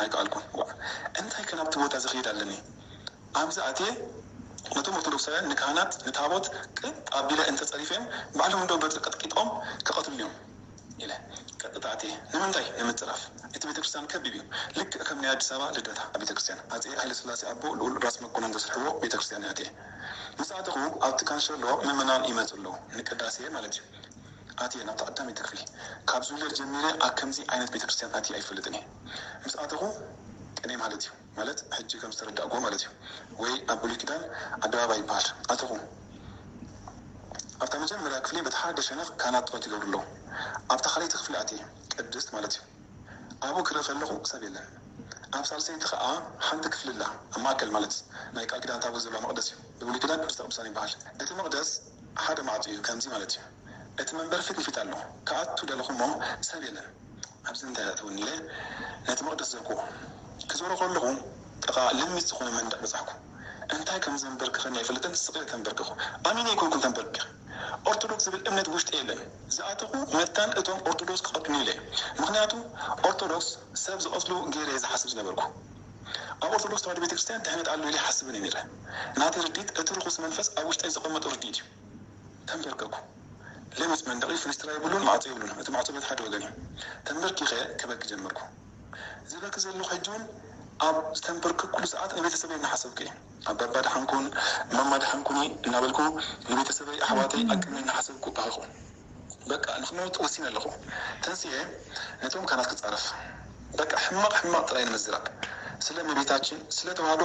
ኣይከኣልኩን። "ዋእ፣ እንታይ ከ ናብቲ ቦታ ዝኸይድ ኣለኒ?" ኣብዚ ኣትየ፣ ነቶም ኦርቶዶክሳውያን ንካህናት፣ ንታቦት ቅጥ ኣቢለ እንተጸሪፈዮም፣ ባዕሎም እንዶ በትሪ ቀጥቂጦም ክቐትሉኒ እዮም ኢለ ቀጥታ ኣትየ። ንምንታይ? ንምጽራፍ። እቲ ቤተክርስትያን ከቢብ እዩ። ልክዕ ከም ናይ ኣዲስ ኣበባ ልደታ ቤተክርስትያን፣ ኣጼ ሃይለስላሴ ኣቦ ልኡል ራስ መኮነን ዘስርሕዎ ቤተክርስትያን እየ ኣትየ። ምስ ኣተኹ፣ ኣብቲ ካንሸሎ ምእመናን ይመጹ ኣለዉ፣ ንቅዳሴ ማለት እዩ። ኣትየ ናብታ ቀዳመይቲ ክፍሊ። ካብ ዝውለድ ጀሚረ ኣብ ከምዚ ዓይነት ቤተክርስትያን ኣትየ ኣይፈልጥን እየ። ምስ ኣተኹ ቅኔ ማለት እዩ። ማለት ሕጂ ከም ዝተረዳእኩዎ ማለት እዩ። ወይ ኣብ ብሉይ ኪዳን ኣደባባይ ይበሃል። ኣተኹ ኣብታ መጀመርያ ክፍሊ በቲ ሓደ ሸነኽ ካህናት ጸሎት ይገብሩ ኣለዉ። ኣብታ ካልኣይቲ ክፍሊ ኣትየ ቅድስት ማለት እዩ። ኣብኡ ክርኢ ከለኹ ሰብ የለን። ኣብ ሳልሰይቲ ኸኣ ሓንቲ ክፍሊ ኣላ፣ ኣብ ማእከል ማለት ናይ ቃል ኪዳን ታቦት ዘለዋ መቕደስ እዩ። ብብሉይ ኪዳን ቅድስተ ቅዱሳን ይበሃል። እቲ መቕደስ ሓደ ማዕጾ እዩ፣ ከምዚ ማለት እዩ። እቲ መንበር ፊት ንፊት ኣሎ። ክኣቱ ደለኹ እሞ ሰብ የለን። ኣብዚ እንታይ ኣእተወኒ ኢለ ነቲ መቕደስ ዘርክዎ። ክዞሮ ከለኹ ጥቓ ልሚት ዝኾነ መንደቕ በጻሕኩ። እንታይ ከም ዘንበርክኸኒ ኣይፈልጥን፣ ስቕ ኢለ ተንበርከኹ። ኣሚነ ኣይኮንኩን ተንበርኪኸ። ኦርቶዶክስ ዝብል እምነት ውሽጢ የለን። ዝኣተኹ መታን እቶም ኦርቶዶክስ ክቐትሉኒ ኢለ። ምኽንያቱ ኦርቶዶክስ ሰብ ዝቐትሉ ገይረ እየ ዝሓስብ ዝነበርኩ። ኣብ ኦርቶዶክስ ተዋህዶ ቤተክርስትያን ድሕነት ኣሎ ኢለ ይሓስብን እየ ነይረ። ናተይ ርድኢት እቲ ርኹስ መንፈስ ኣብ ውሽጠይ ዘቐመጦ ርድኢት እዩ። ተንበርከኩ። ለሚጽ መንደቕ እዩ፣ ፍንስትራ የብሉን፣ ማዕጾ የብሉን። እቲ ማዕጾ በቲ ሓደ ወገን እዩ። ተንበርኪኸ ክበኪ ጀመርኩ። ዝበኪ ዘለኹ ሕጂ እውን ኣብ ዝተንበርከኩሉ ሰዓት ንቤተሰበይ እናሓሰብኩ እየ። ኣባባ ደሓንኩን ማማ ደሓንኩኒ እናበልኩ ንቤተሰበይ ኣሕዋተይ ኣቅመ እናሓሰብኩ በኸኹ። በቃ ንክመውት ወሲነ ኣለኹ። ተንስኤ ነቶም ካህናት ክጻረፍ። በቃ ሕማቕ ሕማቕ ጥራይ ንምዝራብ። ስለ እመቤታችን፣ ስለ ተዋህዶ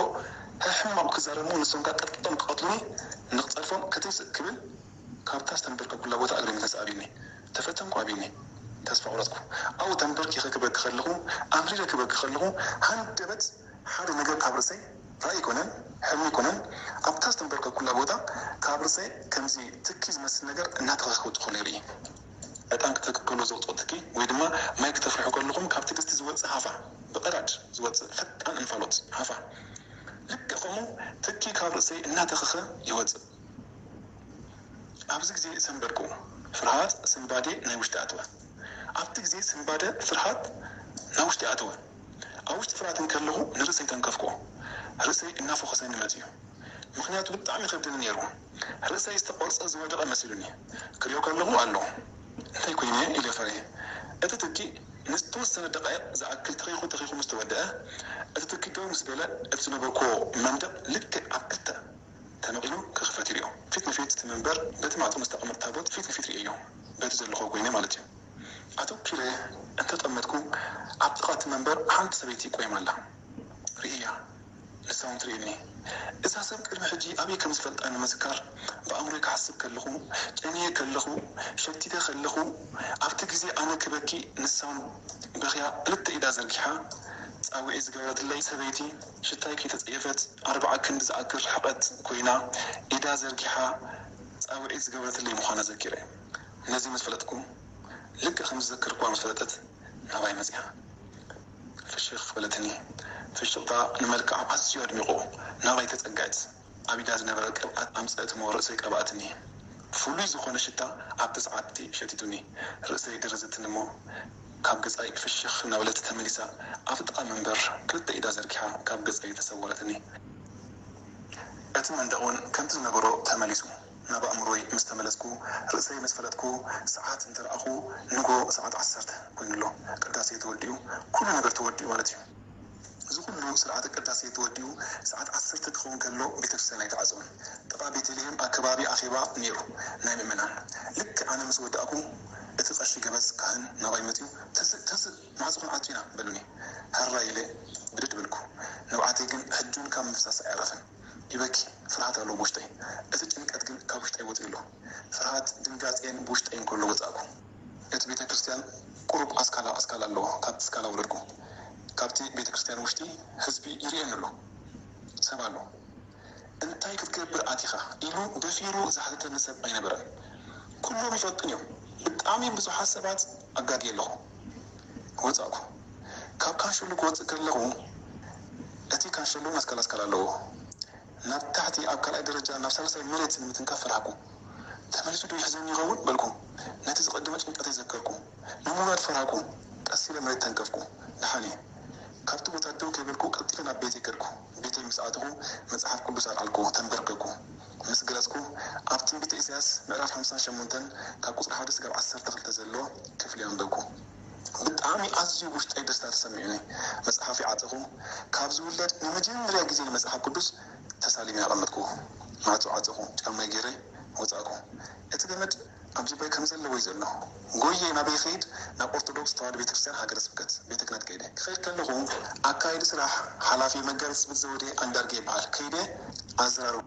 ሕማቕ ክዛረቡ ንሶም ከኣ ቀጥቂጦም ክቐትሉኒ ንክጸርፎም ክትንስእ ክብል ካብታ ዝተንበርከኩላ ቦታ እግረይ ምተንስእ ኣብዩኒ። ተፈተንኩ ኣብዩኒ። ተስፋ ቆረጽኩ። ኣብኡ ተንበርኪኸ ክበኪ ከለኹ፣ ኣምሪረ ክበኪ ከለኹ፣ ሃንደበት ሓደ ነገር ካብ ርእሰይ ራእይ ኣይኮነን፣ ሕልሚ ኣይኮነን፣ ኣብታ ዝተንበርከኩላ ቦታ ካብ ርእሰይ ከምዚ ትኪ ዝመስል ነገር እናተኸኸ ክወጽእ ከሎ ይርኢ። ዕጣን ክትተክሉ ከሎ ዝወጽኦ ትኪ ወይ ድማ ማይ ክተፍርሑ ከለኹም ካብ ትግስቲ ዝወጽእ ሃፋ፣ ብቐዳድ ዝወጽእ ፈጣን እንፋሎት ሃፋ። ልክዕ ከምኡ ትኪ ካብ ርእሰይ እናተኸኸ ይወጽእ። ኣብዚ ግዜ ሰንበድኩ። ፍርሃት፣ ስንባዴ ናይ ውሽጢ ኣተወ። ኣብቲ ግዜ ስንባደ፣ ፍርሃት ናይ ውሽጢ ኣተወ። ኣብ ውሽጢ ፍርሃት እንከለኹ ንርእሰይ ተንከፍኩ። ርእሰይ እናፈኾሰኒ መጺኡ። ምኽንያቱ ብጣዕሚ ይኸብደኒ ነይሩ። ርእሰይ ዝተቖርጸ ዝወደቐ መሲሉኒ። ክሪኦ ከለኹ ኣሎ። እንታይ ኮይነ ኢለ ፈርየ። እቲ ትኪ ንዝተወሰነ ደቃይቕ ዝኣክል ተኺኹ ተኺኹ ምስ ተወደአ፣ እቲ ትኪ ደው ምስ በለ፣ እቲ ዝነበርኩዎ መንደቕ ልክዕ ኣብ ክልተ ተመቒሉ ክኽፈት ይርእዮ። ፊት ንፊት እቲ መንበር በቲ ማዕጾ ምስ ተቐመጠ ታቦት ፊት ንፊት ርእየዮ። በቲ ዘለኹዎ ኮይነ ማለት እዩ። ኣተኲረ እንተጠመትኩ ኣብ ጥቓ እቲ መንበር ሓንቲ ሰበይቲ ቆይማ ኣላ። ርእያ። ንሳ እውን ትርእየኒ። እዛ ሰብ ቅድሚ ሕጂ ኣበይ ከም ዝፈልጣ ንምዝካር ብኣእምሮይ ክሓስብ ከለኹ፣ ጨንየ ከለኹ፣ ሸቲተ ከለኹ፣ ኣብቲ ግዜ ኣነ ክበኪ ንሳ እውን በኽያ ክልተ ኢዳ ዘርጊሓ ጻውዒት ዝገበረትለይ ሰበይቲ ሽታይ ከይተጸየፈት ኣርብዓ ክንዲ ዝኣክል ርሕቐት ኮይና ኢዳ ዘርጊሓ ጻውዒት ዝገበረትለይ ምዃና ዘኪረ። ነዚ ምስ ፈለጥኩ፣ ልክዕ ከም ዝዘከርክዋ ምስ ፈለጠት ናባይ መጺኣ። ፍሽኽ በለትኒ። ፍሽኽታ ንመልክዓ ኣዝዩ ኣድሚቑ ናባይ ተጸግዐት። ኣብ ኢዳ ዝነበረ ቅብኣት ኣምጸእት እሞ ርእሰይ ቀብኣትኒ። ፍሉይ ዝኾነ ሽታ ኣብቲ ሰዓት እቲ ሸቲቱኒ። ርእሰይ ደረዘትኒ እሞ ካብ ገጻይ ፍሽኽ እናበለት ተመሊሳ ኣብቲ ጥቓ መንበር ክልተ ኢዳ ዘርጊሓ ካብ ገጸይ ተሰወረትኒ። እቲ መንደቕ እውን ከምቲ ዝነበሮ ተመሊሱ። ናብ ኣእምሮይ ምስ ተመለስኩ፣ ርእሰይ ምስ ፈለጥኩ፣ ሰዓት እንተ ረኣኹ፣ ንግሆ ሰዓት ዓሰርተ ኮይኑ ኣሎ። ቅዳሴ ተወዲኡ፣ ኩሉ ነገር ተወዲኡ ማለት እዩ። እዚ ኩሉ ስርዓተ ቅዳሴ ተወዲኡ፣ ሰዓት ዓሰርተ ክኸውን ከሎ ቤተክርስትያን ኣይተዓጸወን። ጥቓ ቤተልሔም ኣከባቢ ኣኼባ ነይሩ፣ ናይ ምእመናን። ልክዕ ኣነ ምስ ወዳእኩ፣ እቲ ቀሺ ገበዝ ካህን ናባይ መጺኡ፣ "ተስእ፣ ተስእ፣ ማዕጾ ክንኣቱ ኢና" በሉኒ። ሃራይ ኢለ ብድድ በልኩ። ንብዓተይ ግን ሕጂ እውን ካብ ምፍሳስ ኣየዕረፈን። ይበኪ፣ ፍርሃት ኣሎ ብውሽጠይ። እቲ ጭንቀት ግን ካብ ውሽጠይ ወጺኡ ኣሎ። ፍርሃት፣ ድንጋጼን ብውሽጠይ እንከሎ ወጻእኩ። እቲ ቤተ ክርስቲያን ቁሩብ ኣስካላ ኣስካላ ኣለዎ። ካብቲ ስካላ ወረድኩ። ካብቲ ቤተ ክርስቲያን ውሽጢ ህዝቢ ይርእየኒ ኣሎ። ሰብ ኣሎ። "እንታይ ክትገብር ኣቲኻ?" ኢሉ ደፊሩ ዝሓተተኒ ሰብ ኣይነበረን። ኩሎም ይፈልጡኒ እዮም። ብጣዕሚ ብዙሓት ሰባት ኣጋግየ ኣለኹ። ወጻእኩ። ካብ ካንሸሎ ክወጽእ ከለኹ፣ እቲ ካንሸሎ ኣስካላ ኣስካላ ኣለዎ። ናብ ታሕቲ ኣብ ካልኣይ ደረጃ ናብ ሳልሳይ መሬት ንምትንካፍ ፈራህኩ። "ተመሊሱ ዶ ይሕዘኒ ይኸውን?" በልኩ። ነቲ ዝቐደመ ጭንቀተይ ዘከርኩ። ንምውራድ ፈራህኩ። ቀስ ኢለ መሬት ተንከፍኩ። ደሓን እየ። ካብቲ ቦታ ደው ከይበልኩ ቀልጢፈ ናብ ቤተይ ከድኩ። ቤተይ ምስ ኣተኹ መጽሓፍ ቅዱስ ኣልዓልኩ፣ ተንበርከኩ። ምስ ገለጽኩ ኣብ ትንቢተ ኢሳያስ ምዕራፍ ሓምሳን ሸሞንተን ካብ ቁጽሪ ሓደ ስጋብ ዓሰርተ ክልተ ዘሎ ክፍሊ ኣንበብኩ። ብጣዕሚ ኣዝዩ ውሽጠይ ደስታ ተሰሚዑኒ። መጽሓፍ ይዓጸኹ። ካብ ዝውለድ ንመጀመርያ ግዜ ንመጽሓፍ ቅዱስ ተሳሊመ ኣቐመጥኩዎ። ማዕጾ ዓጸኹ፣ ጫማይ ገይረ ወጻእኩ። እቲ ገመድ ኣብ ጅባይ ከም ዘለዎ እዩ ዘሎ። ጎየ ናበይ ከይድ? ናብ ኦርቶዶክስ ተዋህዶ ቤተክርስትያን ሃገረ ስብከት ቤተ ክህነት ከይደ። ክኸይድ ከለኹ ኣካይዲ ስራሕ ሓላፊ መጋቢ ስብት ዘውዴ ኣንዳርጌ ይበሃል። ከይደ ኣዘራርቡ